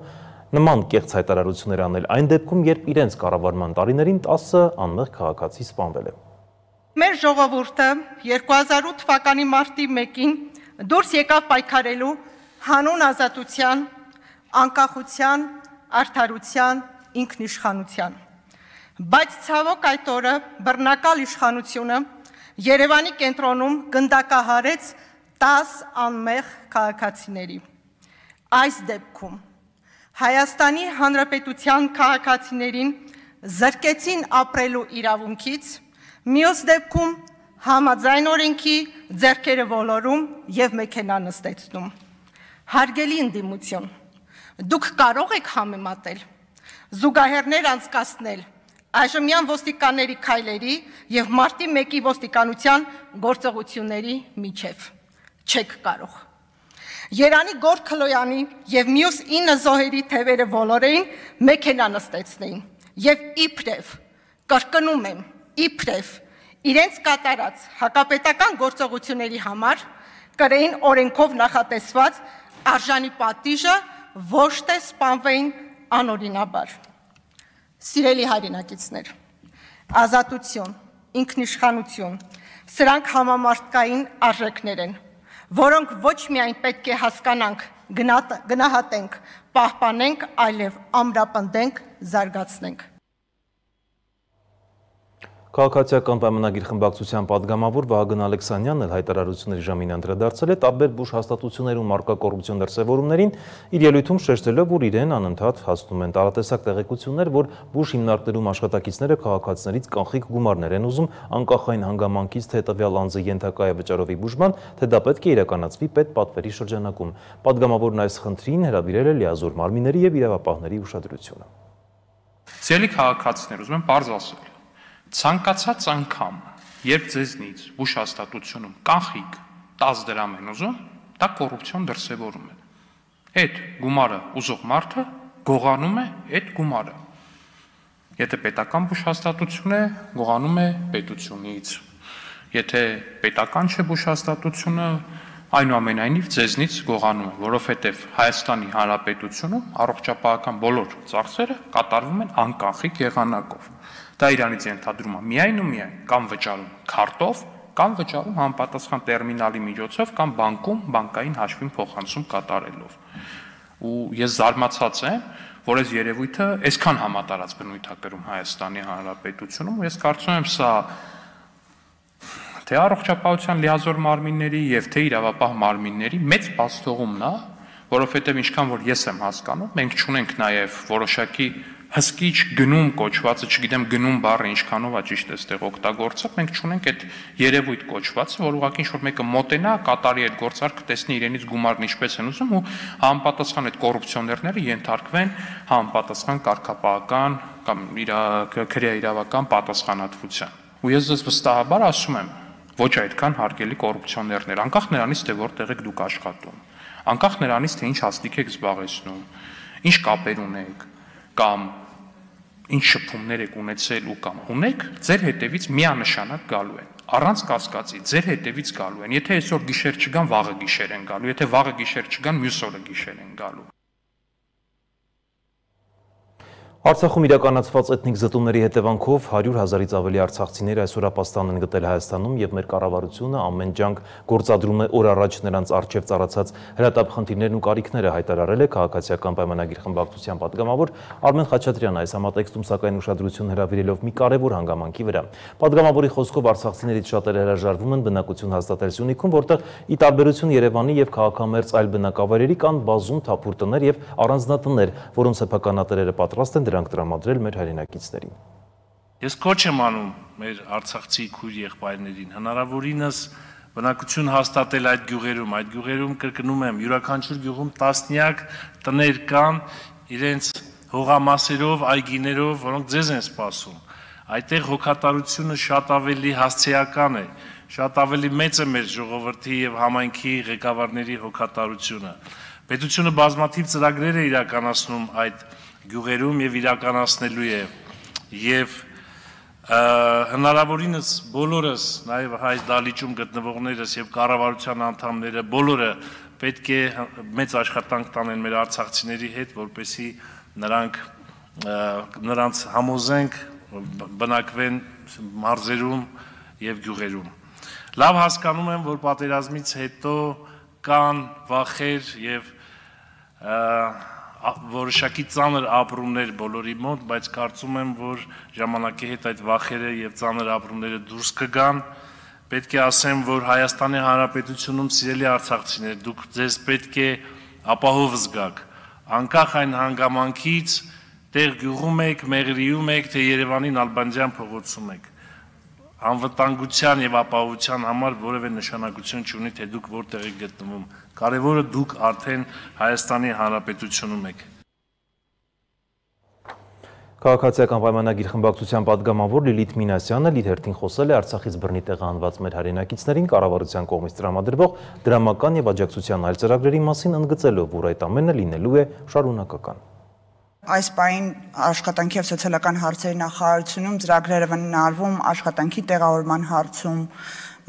նման կեղծ հայտարարություններ անել այն դեպքում, երբ իրենց կառավարման տարիներին 10 անմեղ քաղաքացի սպանվել է։ Մեր ժողովուրդը 2008 թվականի մարտի 1-ին դուրս եկավ պայքարելու հանուն ազատության, անկախության, արդարության, ինքնիշխանության։ Բայց ցավոք այդ օրը բռնակալ իշխանությունը Երևանի կենտրոնում գնդակահարեց 10 անմեղ քաղաքացիների։ Այս դեպքում Հայաստանի Հանրապետության քաղաքացիներին զրկեցին ապրելու իրավունքից, մյուս դեպքում համաձայն օրենքի ձեռքերը ոլորում եւ մեքենա նստեցնում։ Հարգելի ընդդիմություն, դուք կարող եք համեմատել, զուգահեռներ անցկացնել այժմյան ոստիկանների քայլերի եւ մարտի 1-ի ոստիկանության գործողությունների միջև։ Չեք կարող։ Երանի Գոր Քլոյանի եւ մյուս 9 զոհերի թևերը ոլորեին մեքենա նստեցնեին եւ իբրև, կրկնում եմ, իբրև իրենց կատարած հակապետական գործողությունների համար կրեին օրենքով նախատեսված արժանի պատիժը, ոչ թե սպանվեին անօրինաբար։ Սիրելի հայրենակիցներ, ազատություն, ինքնիշխանություն, սրանք համամարտկային արժեքներ են, որոնք ոչ միայն պետք է հասկանանք, գնահատենք, պահպանենք, այլև ամրապնդենք, զարգացնենք։ Քաղաքացիական պայմանագիր խմբակցության պատգամավոր Վահագն Ալեքսանյանն էլ հայտարարությունների ժամին անդրադարձել է տարբեր բուժ հաստատություններում առկա կոռուպցիոն դրսևորումներին, իր ելույթում շեշտելով, որ իրեն անընդհատ հասնում են տարատեսակ տեղեկություններ, որ բուժ հիմնարկներում աշխատակիցները քաղաքացիներից կանխիկ գումարներ են ուզում անկախ այն հանգամանքից, թե տվյալ անձը ենթակա է վճարովի բուժման, թե դա պետք է իրականացվի պետպատվերի շրջանակում։ Պատգամավորն այս խնդրին հրավիրել է լիազոր մարմինների եւ իրավապահների ուշադրությունը։ Սիրելի քաղաքացիներ, ուզում եմ պարզ ասել, ցանկացած անգամ, երբ ձեզնից բուժ հաստատությունում կանխիկ 10 դրամ են ուզում, դա կոռուպցիոն դրսևորում է։ Այդ գումարը ուզող մարդը գողանում է այդ գումարը։ Եթե պետական բուժ հաստատություն է, գողանում է պետությունից։ Եթե պետական չէ բուժ հաստատությունը, այնուամենայնիվ ձեզնից գողանում է, որովհետև Հայաստանի Հանրապետությունում առողջապահական բոլոր ծախսերը կատարվում են անկանխիկ եղանակով։ Դա իրանից ենթադրում է միայն ու միայն կամ վճարում քարտով, կամ վճարում համապատասխան տերմինալի միջոցով, կամ բանկում բանկային հաշվին փոխանցում կատարելով։ Ու ես զարմացած եմ, որ այս երևույթը այսքան համատարած բնույթ է կրում Հայաստանի Հանրապետությունում, ու ես կարծում եմ սա թե առողջապահության լիազոր մարմինների եւ թե իրավապահ մարմինների մեծ բացթողումն է, որովհետեւ ինչքան որ ես եմ հասկանում, մենք չունենք նաեւ որոշակի հսկիչ գնում կոչվածը, չգիտեմ գնում բառը ինչքանով է ճիշտ էստեղ օգտագործել, մենք չունենք այդ երևույթ կոչվածը, որ ուղղակի ինչ-որ մեկը մոտենա, կատարի այդ գործարքը, տեսնի իրենից գումարն ինչպես են ուզում ու համապատասխան այդ կոռուպցիոներները ենթարկվեն համապատասխան կարգապահական կամ քրեաիրավական պատասխանատվության։ Ու ես ձեզ վստահաբար ասում եմ, ոչ այդքան հարգելի կոռուպցիոներներ, անկախ նրանից, թե որտեղ եք դուք աշխատում, անկախ նրանից, թե ինչ հաստիք եք զբաղեցնում, ինչ կապեր ունեք, կամ ինչ շփումներ եք ունեցել ու կամ ունեք, ձեր հետևից միանշանակ գալու են, առանց կասկածի, ձեր հետևից գալու են, եթե այսօր գիշեր չգան, վաղը գիշեր են գալու, եթե վաղը գիշեր չգան, մյուս օրը գիշեր են գալու։ Արցախում իրականացված էթնիկ զտումների հետևանքով 100,000-ից ավելի արցախցիներ այսօր ապաստան են գտել Հայաստանում եւ մեր կառավարությունը ամեն ջանք գործադրում է օր առաջ նրանց առջև ծառացած հրատապ խնդիրներն ու կարիքները, հայտարարել է քաղաքացիական պայմանագիր խմբակցության պատգամավոր Արմեն Խաչատրյանը, այս համատեքստում սակայն ուշադրություն հրավիրելով մի կարևոր հանգամանքի վրա։ Պատգամավորի խոսքով արցախցիներից շատերը հրաժարվում են բնակություն հաստատել Սյունիքում, որտեղ ի տարբերություն Երևանի եւ քաղաքամերձ այլ բնակավայրերի կան բազում թափուր տներ եւ առանձնատներ, որոնց սեփականատերերը պատրաստ են դրանք տրամադրել մեր հայրենակիցներին։ Ես կոչ եմ անում մեր արցախցի քույր եղբայրներին հնարավորինս բնակություն հաստատել այդ գյուղերում կրկնում եմ, յուրաքանչյուր գյուղում տասնյակ տներ կան իրենց հողամասերով, այգիներով, որոնք ձեզ են սպասում։ Այդտեղ հոգատարությունը շատ ավելի հասցեական է, շատ ավելի մեծ է մեր ժողովրդի եւ համայնքի ղեկավարների հոգատարությունը։ Պետությունը բազմաթիվ ծրագրեր է իրականացնում այդ գյուղերում եւ իրականացնելու է եւ հնարավորինս բոլորս նաեւ հայ դալիճում գտնվողներս եւ կառավարության անդամները բոլորը պետք է մեծ աշխատանք տանեն մեր արցախցիների հետ, որպեսզի նրանց համոզենք բնակվեն մարզերում եւ գյուղերում։ Լավ հասկանում եմ, որ պատերազմից հետո կան վախեր եւ որոշակի ծանր ապրումներ բոլորի մոտ, բայց կարծում եմ, որ ժամանակի հետ այդ վախերը եւ ծանր ապրումները դուրս կգան։ Պետք է ասեմ, որ Հայաստանի Հանրապետությունում սիրելի արցախցիներ, դուք ձեզ պետք է ապահով զգաք, անկախ այն հանգամանքից, տեղ գյուղում եք, Մեղրիում եք, թե Երևանի Նալբանդյան փողոցում եք։ Անվտանգության եւ ապահովության համար որևէ նշանակություն չունի, թե դուք որտեղ եք գտնվում։ Կարևորը դուք արդեն Հայաստանի Հանրապետությունում եք։ Քաղաքացիական պայմանագիր խմբակցության պատգամավոր Լիլիթ Մինասյանը իր հերթին խոսել է Արցախից բռնի տեղահանված մեր հայրենակիցներին կառավարության կողմից տրամադրվող դրամական եւ աջակցության այլ ծրագրերի մասին, ընդգծելով, որ այդ ամենը լինելու է շարունակական։ Այս պահին աշխատանքի եւ սոցիալական հարցերի նախարարությունում ծրագրերը վնարվում աշխատանքի տեղավորման հարցում,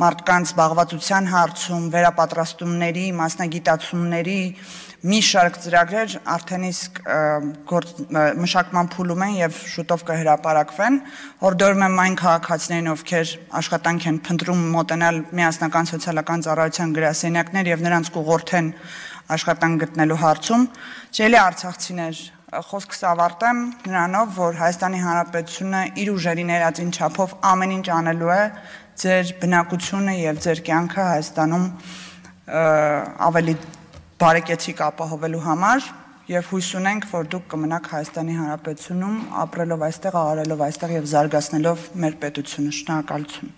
մարդկանց զբաղվածության հարցում, վերապատրաստումների, մասնագիտացումների մի շարք ծրագրեր արդեն իսկ մշակման փուլում են եւ շուտով կհրապարակվեն։ Հորդորում եմ այն քաղաքացիներին, ովքեր աշխատանք են փնտրում մոտենալ միասնական սոցիալական ծառայության գրասենյակներ եւ նրանց կուղղորդեն աշխատանք գտնելու հարցում, ջելի արցախցիներ, խոսքս ավարտեմ նրանով, որ Հայաստանի Հանրապետությունը իր ուժերի ներածին չափով ամեն ինչ անելու է ձեր բնակությունը եւ ձեր կյանքը Հայաստանում ավելի բարեկեցիկ ապահովելու համար եւ հույս ունենք, որ դուք կմնաք Հայաստանի Հանրապետությունում ապրելով այստեղ, աղարելով այստեղ եւ զարգացնելով մեր պետությունը։ Շնորհակալություն։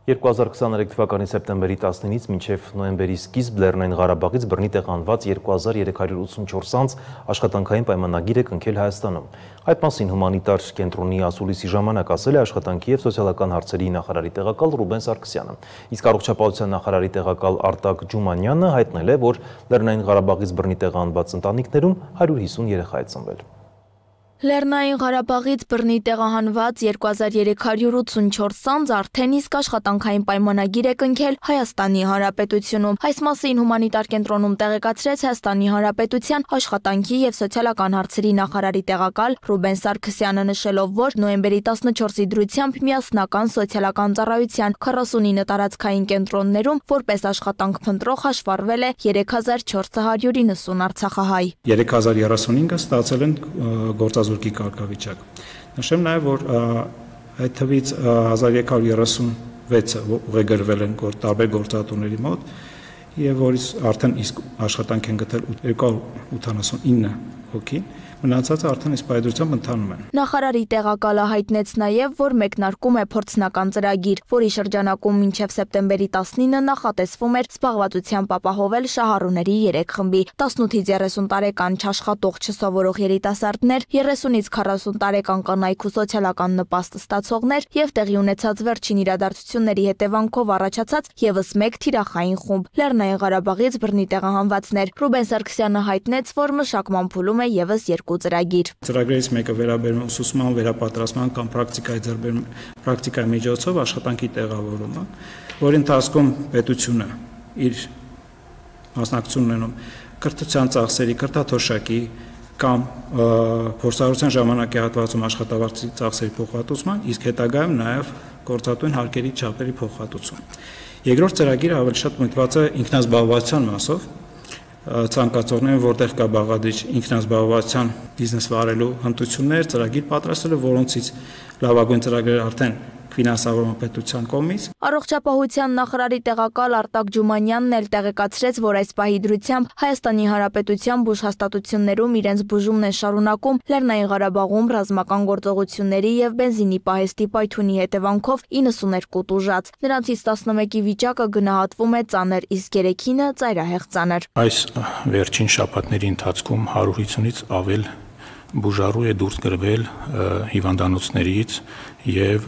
2023 թվականի սեպտեմբերի 19-ից մինչև նոյեմբերի սկիզբ Լեռնային Ղարաբաղից բռնի տեղանված 2384 անձ աշխատանքային պայմանագիր է կնքել Հայաստանում։ Այդ մասին հումանիտար կենտրոնի ասուլիսի ժամանակ ասել է աշխատանքի և սոցիալական հարցերի նախարարի տեղակալ Ռուբեն Սարգսյանը։ Իսկ առողջապահության նախարարի տեղակալ Արտակ Ջումանյանը հայտնել է, որ Լեռնային Ղարաբաղից բռնի տեղանված ընտանիքներում 150 երեխա է ծնվել։ Լեռնային Ղարաբաղից բռնի տեղահանված 2384 անձ արդեն իսկ աշխատանքային պայմանագիր է կնքել Հայաստանի Հանրապետությունում։ Այս մասին հումանիտար կենտրոնում տեղեկացրեց Հայաստանի Հանրապետության աշխատանքի և սոցիալական հարցերի նախարարի տեղակալ Ռուբեն Սարգսյանը, նշելով, որ նոյեմբերի 14-ի դրությամբ միասնական սոցիալական ծառայության 49 տարածքային կենտրոններում որպես աշխատանք փնտրող հաշվառվել է 3490 արցախահայ։ 3035-ը ստացել են գործազուրկի կարգավիճակ։ Նշեմ նաև, որ այդ թվից 1336-ը ուղեգրվել են տարբեր գործատուների մոտ եւ որից արդեն իսկ աշխատանք են գտել 289 հոգի, մնացածը արդեն իսկ պայծրությամբ ընթանում են։ Նախարարի տեղակալը հայտնեց նաև, որ մեկնարկում է փորձնական ծրագիր, որի շրջանակում մինչև սեպտեմբերի 19-ը նախատեսվում էր զբաղվածությամբ ապահովել շահառուների 3 խմբի՝ 18-ից 30 տարեկան չաշխատող չսովորող երիտասարդներ, 30-ից 40 տարեկան կանայք ու սոցիալական նպաստ ստացողներ եւ տեղի ունեցած վերջին իրադարձությունների հետևանքով առաջացած եւս մեկ թիրախային խումբ՝ Լեռնային Ղարաբաղից բռնի տեղահանվածներ։ Ռուբեն Սարգսյանը հայտնեց, որ մշակման փուլում է եւս 2 ծրագիր։ Ծրագրերից մեկը վերաբերում ուսուցման, վերապատրաստման կամ պրակտիկայի միջոցով աշխատանքի տեղավորումը, որի ընթացքում պետությունը իր մասնակցություն ունենում կրթության ծախսերի, կրթաթոշակի կամ փորձառության ժամանակի հատվածում աշխատավարձի ծախսերի փոխհատուցման, իսկ հետագայում նաև գործատուին հարկերի չափերի փոխհատուցում։ Երկրորդ ծրագիրը ավելի շատ միտված է ինքնազբաղվածության մասով, ցանկացողներին, որտեղ կա բաղադրիչ ինքնազբաղվածության բիզնես վարելու հմտություններ, ծրագիր պատրաստելու, որոնցից լավագույն ծրագրերը արդեն ֆինանսավորման պետության կողմից։ Առողջապահության նախարարի տեղակալ Արտակ Ջումանյանն էլ տեղեկացրեց, որ այս պահի դրությամբ Հայաստանի Հանրապետության բուժհաստատություններում իրենց բուժումն են շարունակում Լեռնային Ղարաբաղում ռազմական գործողությունների եւ բենզինի պահեստի պայթյունի հետևանքով 92 տուժած։ Նրանցից 11-ի վիճակը գնահատվում է ծանր, իսկ 3-ինը ծայրահեղ ծանր։ Այս վերջին շաբաթների ընթացքում 150-ից ավել բուժառու է դուրս գրվել հիվանդանոցներից եւ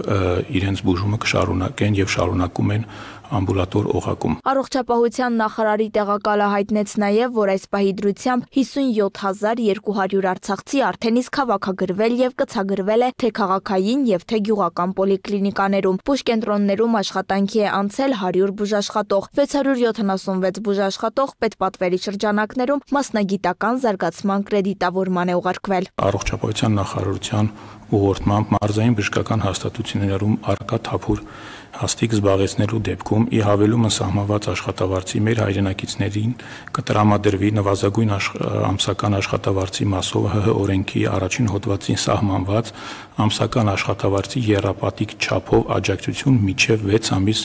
իրենց բուժումը կշարունակեն եւ շարունակում են ամբուլատոր օղակում։ Առողջապահության նախարարի տեղակալը հայտնեց նաև, որ այս պահի դրությամբ 57200 արցախցի արդեն իսկ հավաքագրվել եւ կցագրվել է թե քաղաքային եւ թե գյուղական պոլիկլինիկաներում։ Բուժկենտրոններում աշխատանքի է անցել 100 բուժաշխատող, 676 բուժաշխատող պետպատվերի շրջանակներում մասնագիտական զարգացման կրեդիտավորման է ուղարկվել։ Առողջապահության նախարարության ուղղորդմամբ մարզային բժշկական հաստատություններում առկա թափուր հաստիկ զբաղեցնելու դեպքում ի հավելումը սահմանված աշխատավարձի մեր հայրենակիցներին կտրամադրվի նվազագույն ամսական աշխատավարձի մասով ՀՀ օրենքի առաջին հոդվածին սահմանված ամսական աշխատավարձի եռապատիկ չափով աջակցություն մինչև 6 ամիս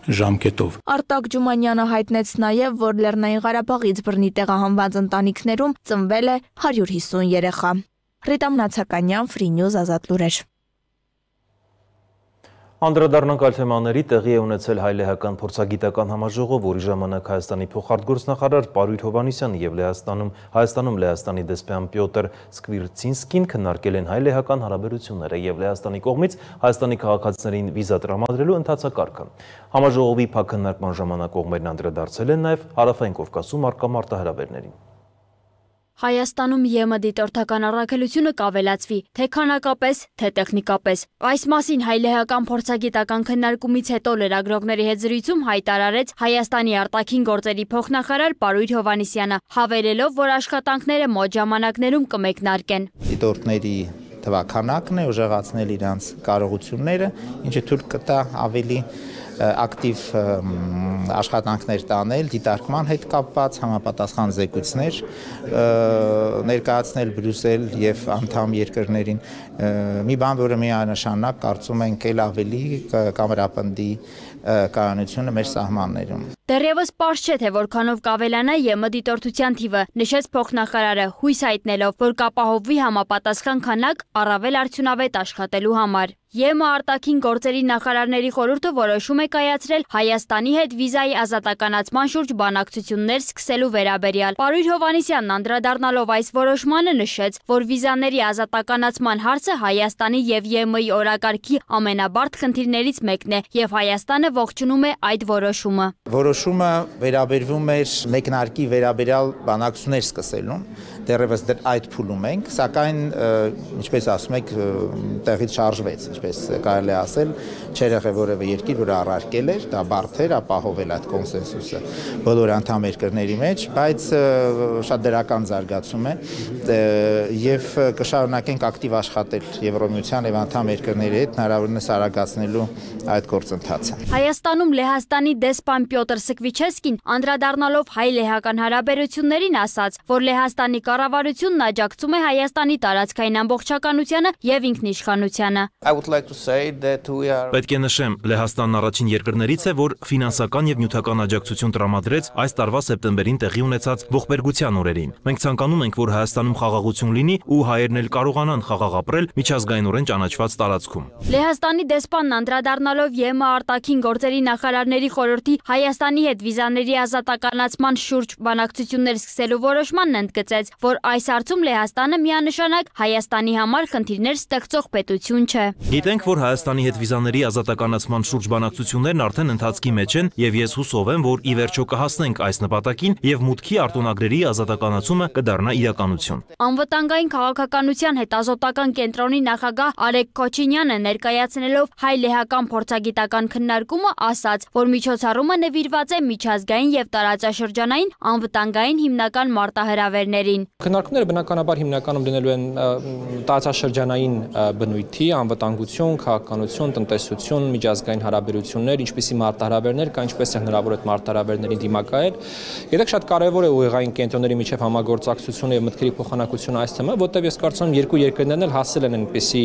ժամկետով։ Արտակ Ջումանյանը հայտնեց նաև, որ Լեռնային Ղարաբաղից բռնի տեղահանված ընտանիքներում ծնվել է 150 երեխա։ Ռիտա Մնացականյան, Free News, Ազատ լուրեր։ Անդրադառնանք այլ թեմաների, տեղի է ունեցել հայ-լեհական փորձագիտական համաժողով, որի ժամանակ Հայաստանի փոխարտգործնախարար Պարույր Հովհաննիսյանը եւ Հայաստանում Լեհաստանի դեսպան Պյոտր Սկվիրցինսկին քննարկել են հայ-լեհական հարաբերությունները եւ Լեհաստանի կողմից Հայաստանի քաղաքացիներին վիզա տրամադրելու ընթացակարգը։ Համաժողովի փակ քննարկման ժամանակ կողմերն անդրադարձել են նաեւ Հարավային Կովկասում առկա մարտահրավերներին։ Հայաստանում ԵՄ դիտորդական առաքելությունը կավելացվի, թե քանակապես, թե տեխնիկապես։ Այս մասին հայ-լեհական փորձագիտական քննարկումից հետո լրագրողների հետ զրույցում հայտարարեց Հայաստանի արտաքին գործերի փոխնախարար Պարույր Հովհաննիսյանը, հավելելով, որ աշխատանքները մոտ ժամանակներում կմեկնարկեն։ Դիտորդների թվաքանակն է, ուժեղացնել իրանց կարողությունները, ինչը թույլ կտա ավելի ակտիվ աշխատանքներ տանել, դիտարկման հետ կապված համապատասխան զեկույցներ ներկայացնել Բրյուսել եւ անդամ երկրներին, մի բան, որը միանշանակ կարծում ենք էլ ավելի կամերապնդի կայունությունը մեր սահմաններում։ Դեռևս պարզ չէ, թե որքանով կավելանա ԵՄ դիտորդության թիվը, նշեց փոխնախարարը, հույս հայտնելով, որ կապահովվի համապատասխան քանակ առավել արդյունավետ աշխատելու համար։ ԵՄ արտաքին գործերի նախարարների խորհուրդը որոշում է կայացրել Հայաստանի հետ վիզայի ազատականացման շուրջ բանակցություններ սկսելու վերաբերյալ։ Պարույր Հովհաննիսյանն անդրադառնալով այս որոշմանը նշեց, որ վիզաների ազատականացման հարցը Հայաստանի եւ ԵՄ-ի օրակարգի ամենաբարդ խնդիրներից մեկն է եւ Հայաստանը ողջունում է այդ որոշումը։ Որոշումը վերաբերվում էր մեկնարկի վերաբերյալ բանակցություններ սկսելուն, դեռևս այդ փուլում ենք, սակայն ինչպես ասում եք, տեղից շարժվեց, ինչպես կարելի է ասել, չէր եղել որևէ երկիր, որը առարկել էր, դա բարդ էր ապահովել այդ կոնսենսուսը բոլոր անդամ երկրների մեջ, բայց շատ դրական զարգացում է եւ կշարունակենք ակտիվ աշխատել Եվրոմիության եւ անդամ երկրների հետ հնարավորինս արագացնելու այդ գործընթացը։ Հայաստանում Լեհաստանի դեսպան Պյոտր Սկվիչեսկին անդրադառնալով հայ-լեհական հարաբերություններին ասաց, որ Լեհաստանի կառավարությունն աջակցում է Հայաստանի տարածքային ամբողջականությանը եւ ինքնիշխանությանը։ Պետք է նշեմ, Լեհաստանն առաջին երկրներից է, որ ֆինանսական եւ նյութական աջակցություն տրամադրեց այս տարվա սեպտեմբերին տեղի ունեցած ողբերգության օրերին։ Մենք ցանկանում ենք, որ Հայաստանում խաղաղություն լինի ու հայերն էլ կարողանան խաղաղ ապրել միջազգայինորեն ճանաչված տարածքում։ Լեհաստանի դեսպանն անդրադառնալով ԵՄ արտաքին գործերի նախարարների խորհրդի Հայաստանի հետ վիզաների ազատականացման շուրջ բանակցություններ սկսելու որոշմանն ընդգծեց, որ այս հարցում Լեհաստանը միանշանակ Հայաստանի համար խնդիրներ ստեղծող պետություն չէ։ Գիտենք, որ Հայաստանի հետ վիզաների ազատականացման շուրջ բանակցություններն արդեն ընթացքի մեջ են եւ ես հուսով եմ, որ ի վերջո կհասնենք այս նպատակին եւ մուտքի արտոնագրերի ազատականացումը կդառնա իրականություն։ Անվտանգային քաղաքականության հետազոտական կենտրոնի նախագահ Արեգ Քոչինյանը ներկայացնելով հայ-լեհական փորձագիտական քննարկումը ասաց, որ միջոցառումը նվիրված է միջազգային եւ տարածաշրջանային անվտանգային հիմնական մարտահրավերներին։ Քննարկումները բնականաբար հիմնականում դնելու են տարածաշրջանային բնույթի, անվտանգություն, քաղաքականություն, տնտեսություն, միջազգային հարաբերություններ, ինչպիսի մարտահրավերներ կա, ինչպես է հնարավոր այդ մարտահրավերներին դիմակայել։ Գիտեք, շատ կարևոր է ուղեղային կենտրոնների միջև համագործակցությունը եւ մտքերի փոխանակությունը այս թեմա, որտեղ ես կարծում եմ երկու երկրներն էլ հասել են այնպիսի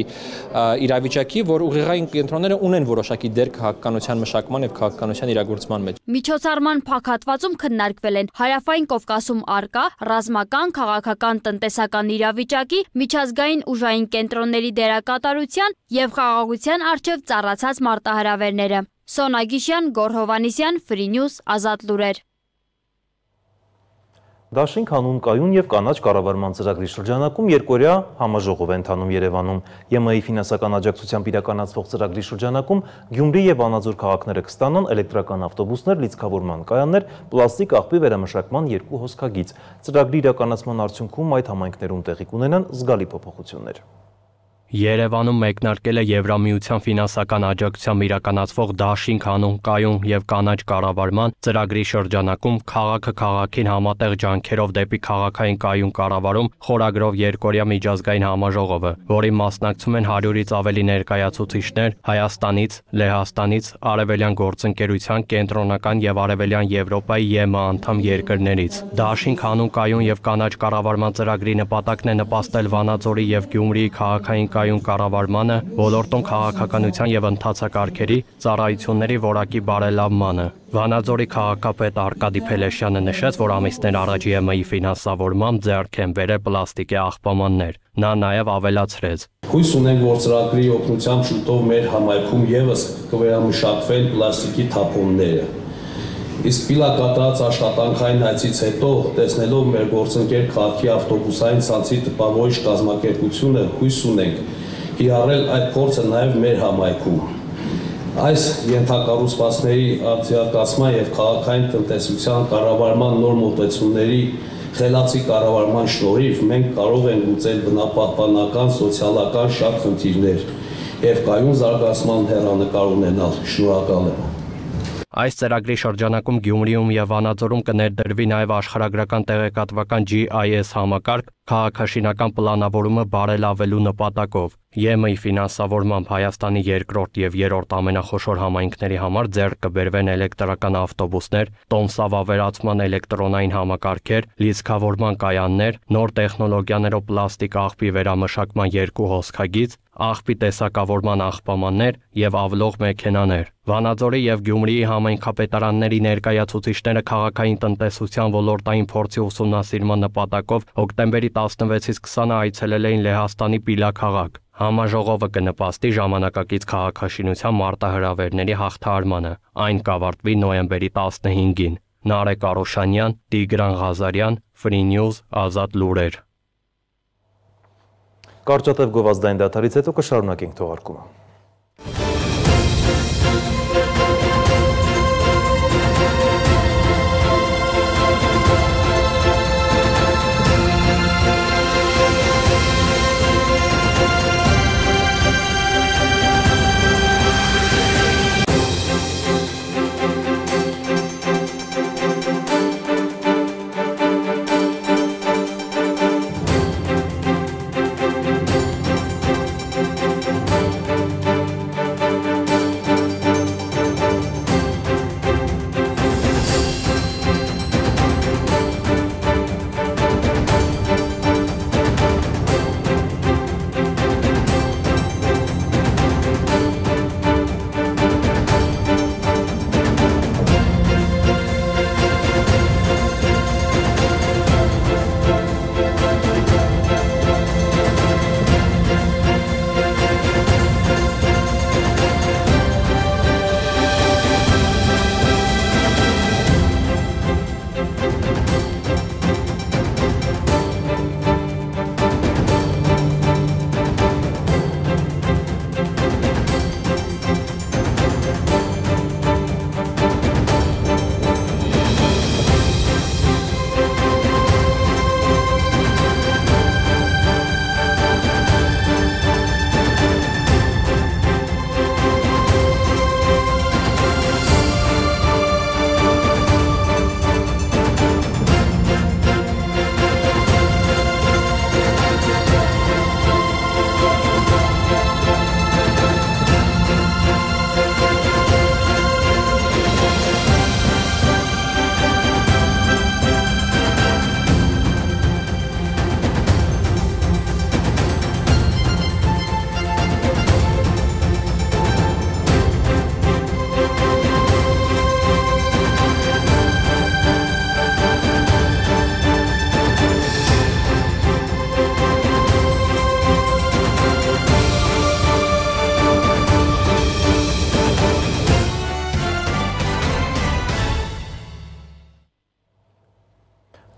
իրավիճակի, որ ուղեղային կենտրոնները ունեն որոշակի դեր քաղաքականության մշակման եւ քաղաքականության իրագործման մեջ։ Միջոցառման փակատվածում քննարկվել են Հարավային Կովկասում առկա ռազմական, քաղաքական, տնտեսական իրավիճակի, միջազգային ուժային կենտրոնների դերակատարության եւ խաղաղության առջև ծառացած մարտահրավերները։ Սոնա Գիշյան, Գոռ Հովհաննիսյան, Free News, Ազատ լուրեր։ Դաշինք հանուն կայուն եւ կանաչ կառավարման ծրագրի շրջանակում երկօրյա համաժողով է ընթանում Երևանում։ ԵՄ-ի ֆինանսական աջակցությամբ իրականացվող ծրագրի շրջանակում Գյումրի եւ Վանաձոր քաղաքները կստանան էլեկտրական ավտոբուսներ, լիցքավորման կայաններ, պլաստիկ աղբի վերամշակման 2 հոսքագիծ։ Ծրագրի իրականացման արդյունքում այդ համայնքներում տեղի կունենան զգալի փոփոխություններ։ Երևանում մեկնարկել է Եվրամիության ֆինանսական աջակցությամբ իրականացվող Դաշինք հանուն կայուն եւ կանաչ կառավարման ծրագրի շրջանակում քաղաքը քաղաքին համատեղ ջանքերով դեպի քաղաքային կայուն կառավարում խորագրով երկօրյա միջազգային համաժողովը, որին մասնակցում են 100-ից ավելի ներկայացուցիչներ Հայաստանից, Լեհաստանից, Արևելյան գործընկերության, Կենտրոնական եւ Արևելյան Եվրոպայի ԵՄ անդամ երկրներից։ Դաշինք հանուն կայուն եւ կանաչ կառավարման ծրագրի նպատակն է նպաստել Վանաձորի եւ Գյումրիի քաղաքային կայուն կառավարմանը, ոլորտում քաղաքականության եւ ընթացակարգերի ծառայությունների որակի բարելավմանը։ Վանաձորի քաղաքապետ Արկադի Փելեշյանը նշեց, որ ամիսներ առաջ ԵՄ-ի ֆինանսավորմամբ ձեռք են բերել պլաստիկի աղբամաններ։ Նա նաեւ ավելացրեց. Հույս ունենք, որ ծրագրի օգնությամբ շուտով մեր համայնքում եւս կվերամշակվեն պլաստիկի թափոնները։ Իսկ պիլակատարած աշխատանքային հայցից հետո, տեսնելով մեր գործընկեր քաղաքի ավտոբուսային ցանցի տպավորիչ կազմակերպությունը, հույս ունենք կիրառել այդ փորձը նաև մեր համայնքում։ Այս ենթակառուցվածքների արտադրական եւ քաղաքային տնտեսության կառավարման նոր մոտեցումների խելացի կառավարման շնորհիվ մենք կարող ենք լուծել բնապահպանական, սոցիալական շատ խնդիրներ եւ կայուն զարգացման հեռանկար ունենալ։ Շնորհակալ եմ։ Այս ծրագրի շրջանակում Գյումրիում եւ Վանաձորում կներդրվի նաեւ աշխարհագրական տեղեկատվական GIS համակարգ քաղաքաշինական պլանավորումը բարելավելու նպատակով։ ԵՄ-ի ֆինանսավորմամբ Հայաստանի երկրորդ եւ երրորդ ամենախոշոր համայնքների համար ձեռք կբերվեն էլեկտրական ավտոբուսներ, տոմսավավերացման էլեկտրոնային համակարգեր, լիցքավորման կայաններ, նոր տեխնոլոգիաներով պլաստիկ աղբի վերամշակման 2 հոսքագիծ, աղբի տեսակավորման աղբամաններ եւ ավլող մեքենաներ։ Վանաձորի եւ Գյումրիի համայնքապետարանների ներկայացուցիչները քաղաքային տնտեսության ոլորտային փորձի ուսումնասիրման նպատակով հոկտեմբերի 16-ից 20-ը այցելել էին Լեհաստանի Պիլաքաղաք։ Համաժողովը կնպաստի ժամանակակից քաղաքաշինության մարտահրավերների հաղթահարմանը։ Այն կավարտվի նոյեմբերի 15-ին։ Նարեկ Արոշանյան, Տիգրան Ղազարյան, Free News, Ազատ լուրեր։ Կարճատև գովազդային դադարից հետո կշարունակենք թողարկումը։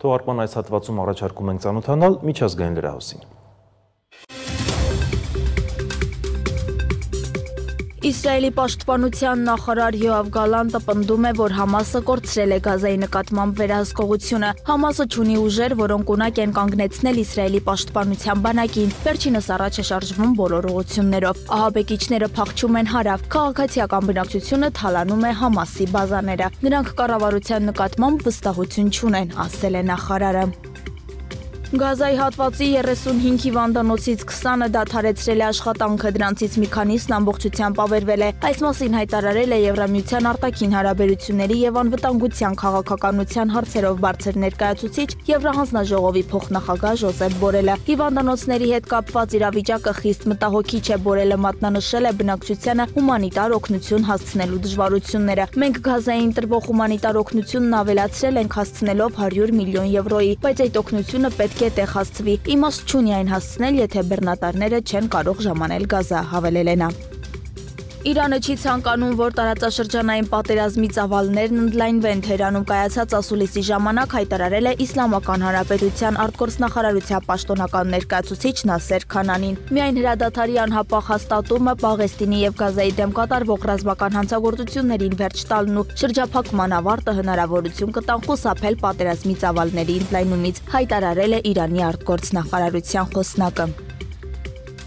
Թողարկման այս հատվածում առաջարկում ենք ծանոթանալ միջազգային լրահոսին։ Իսրայելի պաշտպանության նախարար Յոավ Գալանտը պնդում է, որ Համասը կորցրել է Գազայի նկատմամբ վերահսկողությունը։ Համասը չունի ուժեր, որոնք ունակ են կանգնեցնել Իսրայելի պաշտպանության բանակին։ Վերջինս առաջ է շարժվում բոլոր ուղղություններով։ Ահաբեկիչները փախչում են հարավ։ Քաղաքացիական բնակչությունը թալանում է Համասի բազաները։ Նրանք կառավարության նկատմամբ վստահություն չունեն, ասել է նախարարը։ Գազայի հատվածի 35 հիվանդանոցից 20-ը դադարեցրել է աշխատանքը, դրանցից մի քանիսն ամբողջությամբ ավերվել է։ Այս մասին հայտարարել է Եվրամիության արտաքին հարաբերությունների եւ անվտանգության քաղաքականության հարցերով բարձր ներկայացուցիչ Եվրահանձնաժողովի փոխնախագահ Ժոզեփ Բորելը։ Հիվանդանոցների հետ կապված իրավիճակը խիստ մտահոգիչ է, Բորելը մատնանշել է բնակչությանը հումանիտար օգնություն հասցնելու դժվարությունները։ Մենք Գազային տրվող հումանիտար օգնությունն ավելացրել ենք հասցնելով 100 միլիոն եվրոյի, բայց այդ օգնությունը պետք է տեղացվի։ Իմաստ չունի այն հասցնել, եթե բեռնատարները չեն կարող ժամանել Գազա, հավելել է նա։ Իրանը չի ցանկանում, որ տարածաշրջանային պատերազմի ծավալներն ընդլայնվեն։ Թեհրանում կայացած ասուլիսի ժամանակ հայտարարել է Իսլամական Հանրապետության արտգործնախարարության պաշտոնական ներկայացուցիչ Նասեր Քանանին։ Միայն հրադադարի անհապաղ հաստատումը, Պաղեստինի եւ Գազայի դեմ կատարվող ռազմական հանցագործություններին վերջ տալն ու շրջափակման ավարտը հնարավորություն կտան խուսափել պատերազմի ծավալների ընդլայնումից, հայտարարել է Իրանի արտգործնախարարության խոսնակը։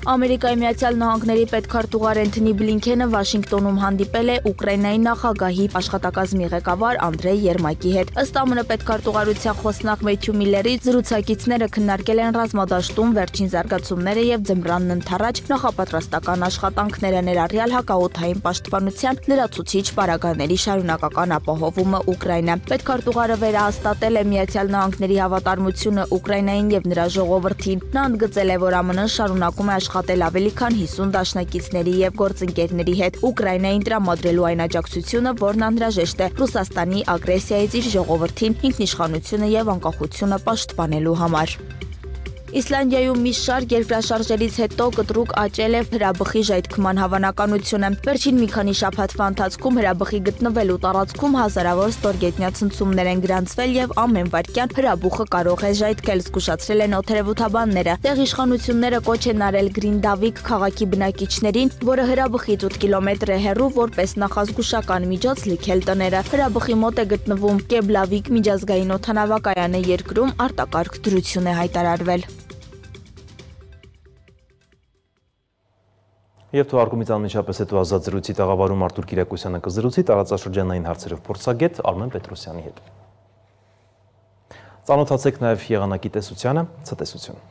Ամերիկայի Միացյալ Նահանգների պետքարտուղար Էնթոնի Բլինքենը Վաշինգտոնում հանդիպել է Ուկրաինայի նախագահի աշխատակազմի ղեկավար Անդրեյ Երմակի հետ։ Ըստ ԱՄՆ պետքարտուղարության խոսնակ Մեթյու Միլլերի զրուցակիցները քննարկել են ռազմադաշտում վերջին զարգացումները եւ ձմռանն ընդառաջ նախապատրաստական աշխատանքները, ներառյալ հակաօդային պաշտպանության լրացուցիչ պարագաների շարունակական ապահովումը Ուկրաինա։ Պետքարտուղարը վերահաստատել է Միացյալ Նահանգների հավատարմությունը Ուկրաինային եւ նրա ժողովրդին։ Նա ընդգծել է, որ ԱՄՆ-ն շարունակում է աշխատել ավելի քան 50 դաշնակիցների եւ գործընկերների հետ Ուկրաինային տրամադրելու այն աջակցությունը, որն անհրաժեշտ է Ռուսաստանի ագրեսիայից իր ժողովրդին ինքնիշխանությունը եւ անկախությունը պաշտպանելու համար։ Իսլանդիայում մի շարք երկրաշարժերից հետո կտրուկ աճել է հրաբխի ժայթքման հավանականությունը։ Վերջին մի քանի շաբաթվա ընթացքում հրաբխի գտնվելու տարածքում հազարավոր ստորգետնյա ցնցումներ են գրանցվել եւ ամեն վայրկյան հրաբուխը կարող է ժայթքել, զգուշացրել են օդերևութաբանները։ Տեղ իշխանությունները կոչ են արել Գրինդավիկ քաղաքի բնակիչներին, որը հրաբխից 8 կիլոմետր է հեռու, որպես նախազգուշական միջոց լքել տները։ Հրաբխի մոտ է գտնվում Կեբլավիկ միջազգային օդանավակայանը, երկրում արտակարգ դրություն է հայտարարվել։ Եվ թողարկումից անմիջապես հետո ազատ զրույցի տաղավարում Արտուր Կիրակոսյանը կզրուցի տարածաշրջանային հարցերով փորձագետ Արմեն Պետրոսյանի հետ։ Ծանոթացեք նաև եղանակի տեսությանը, ցտեսություն։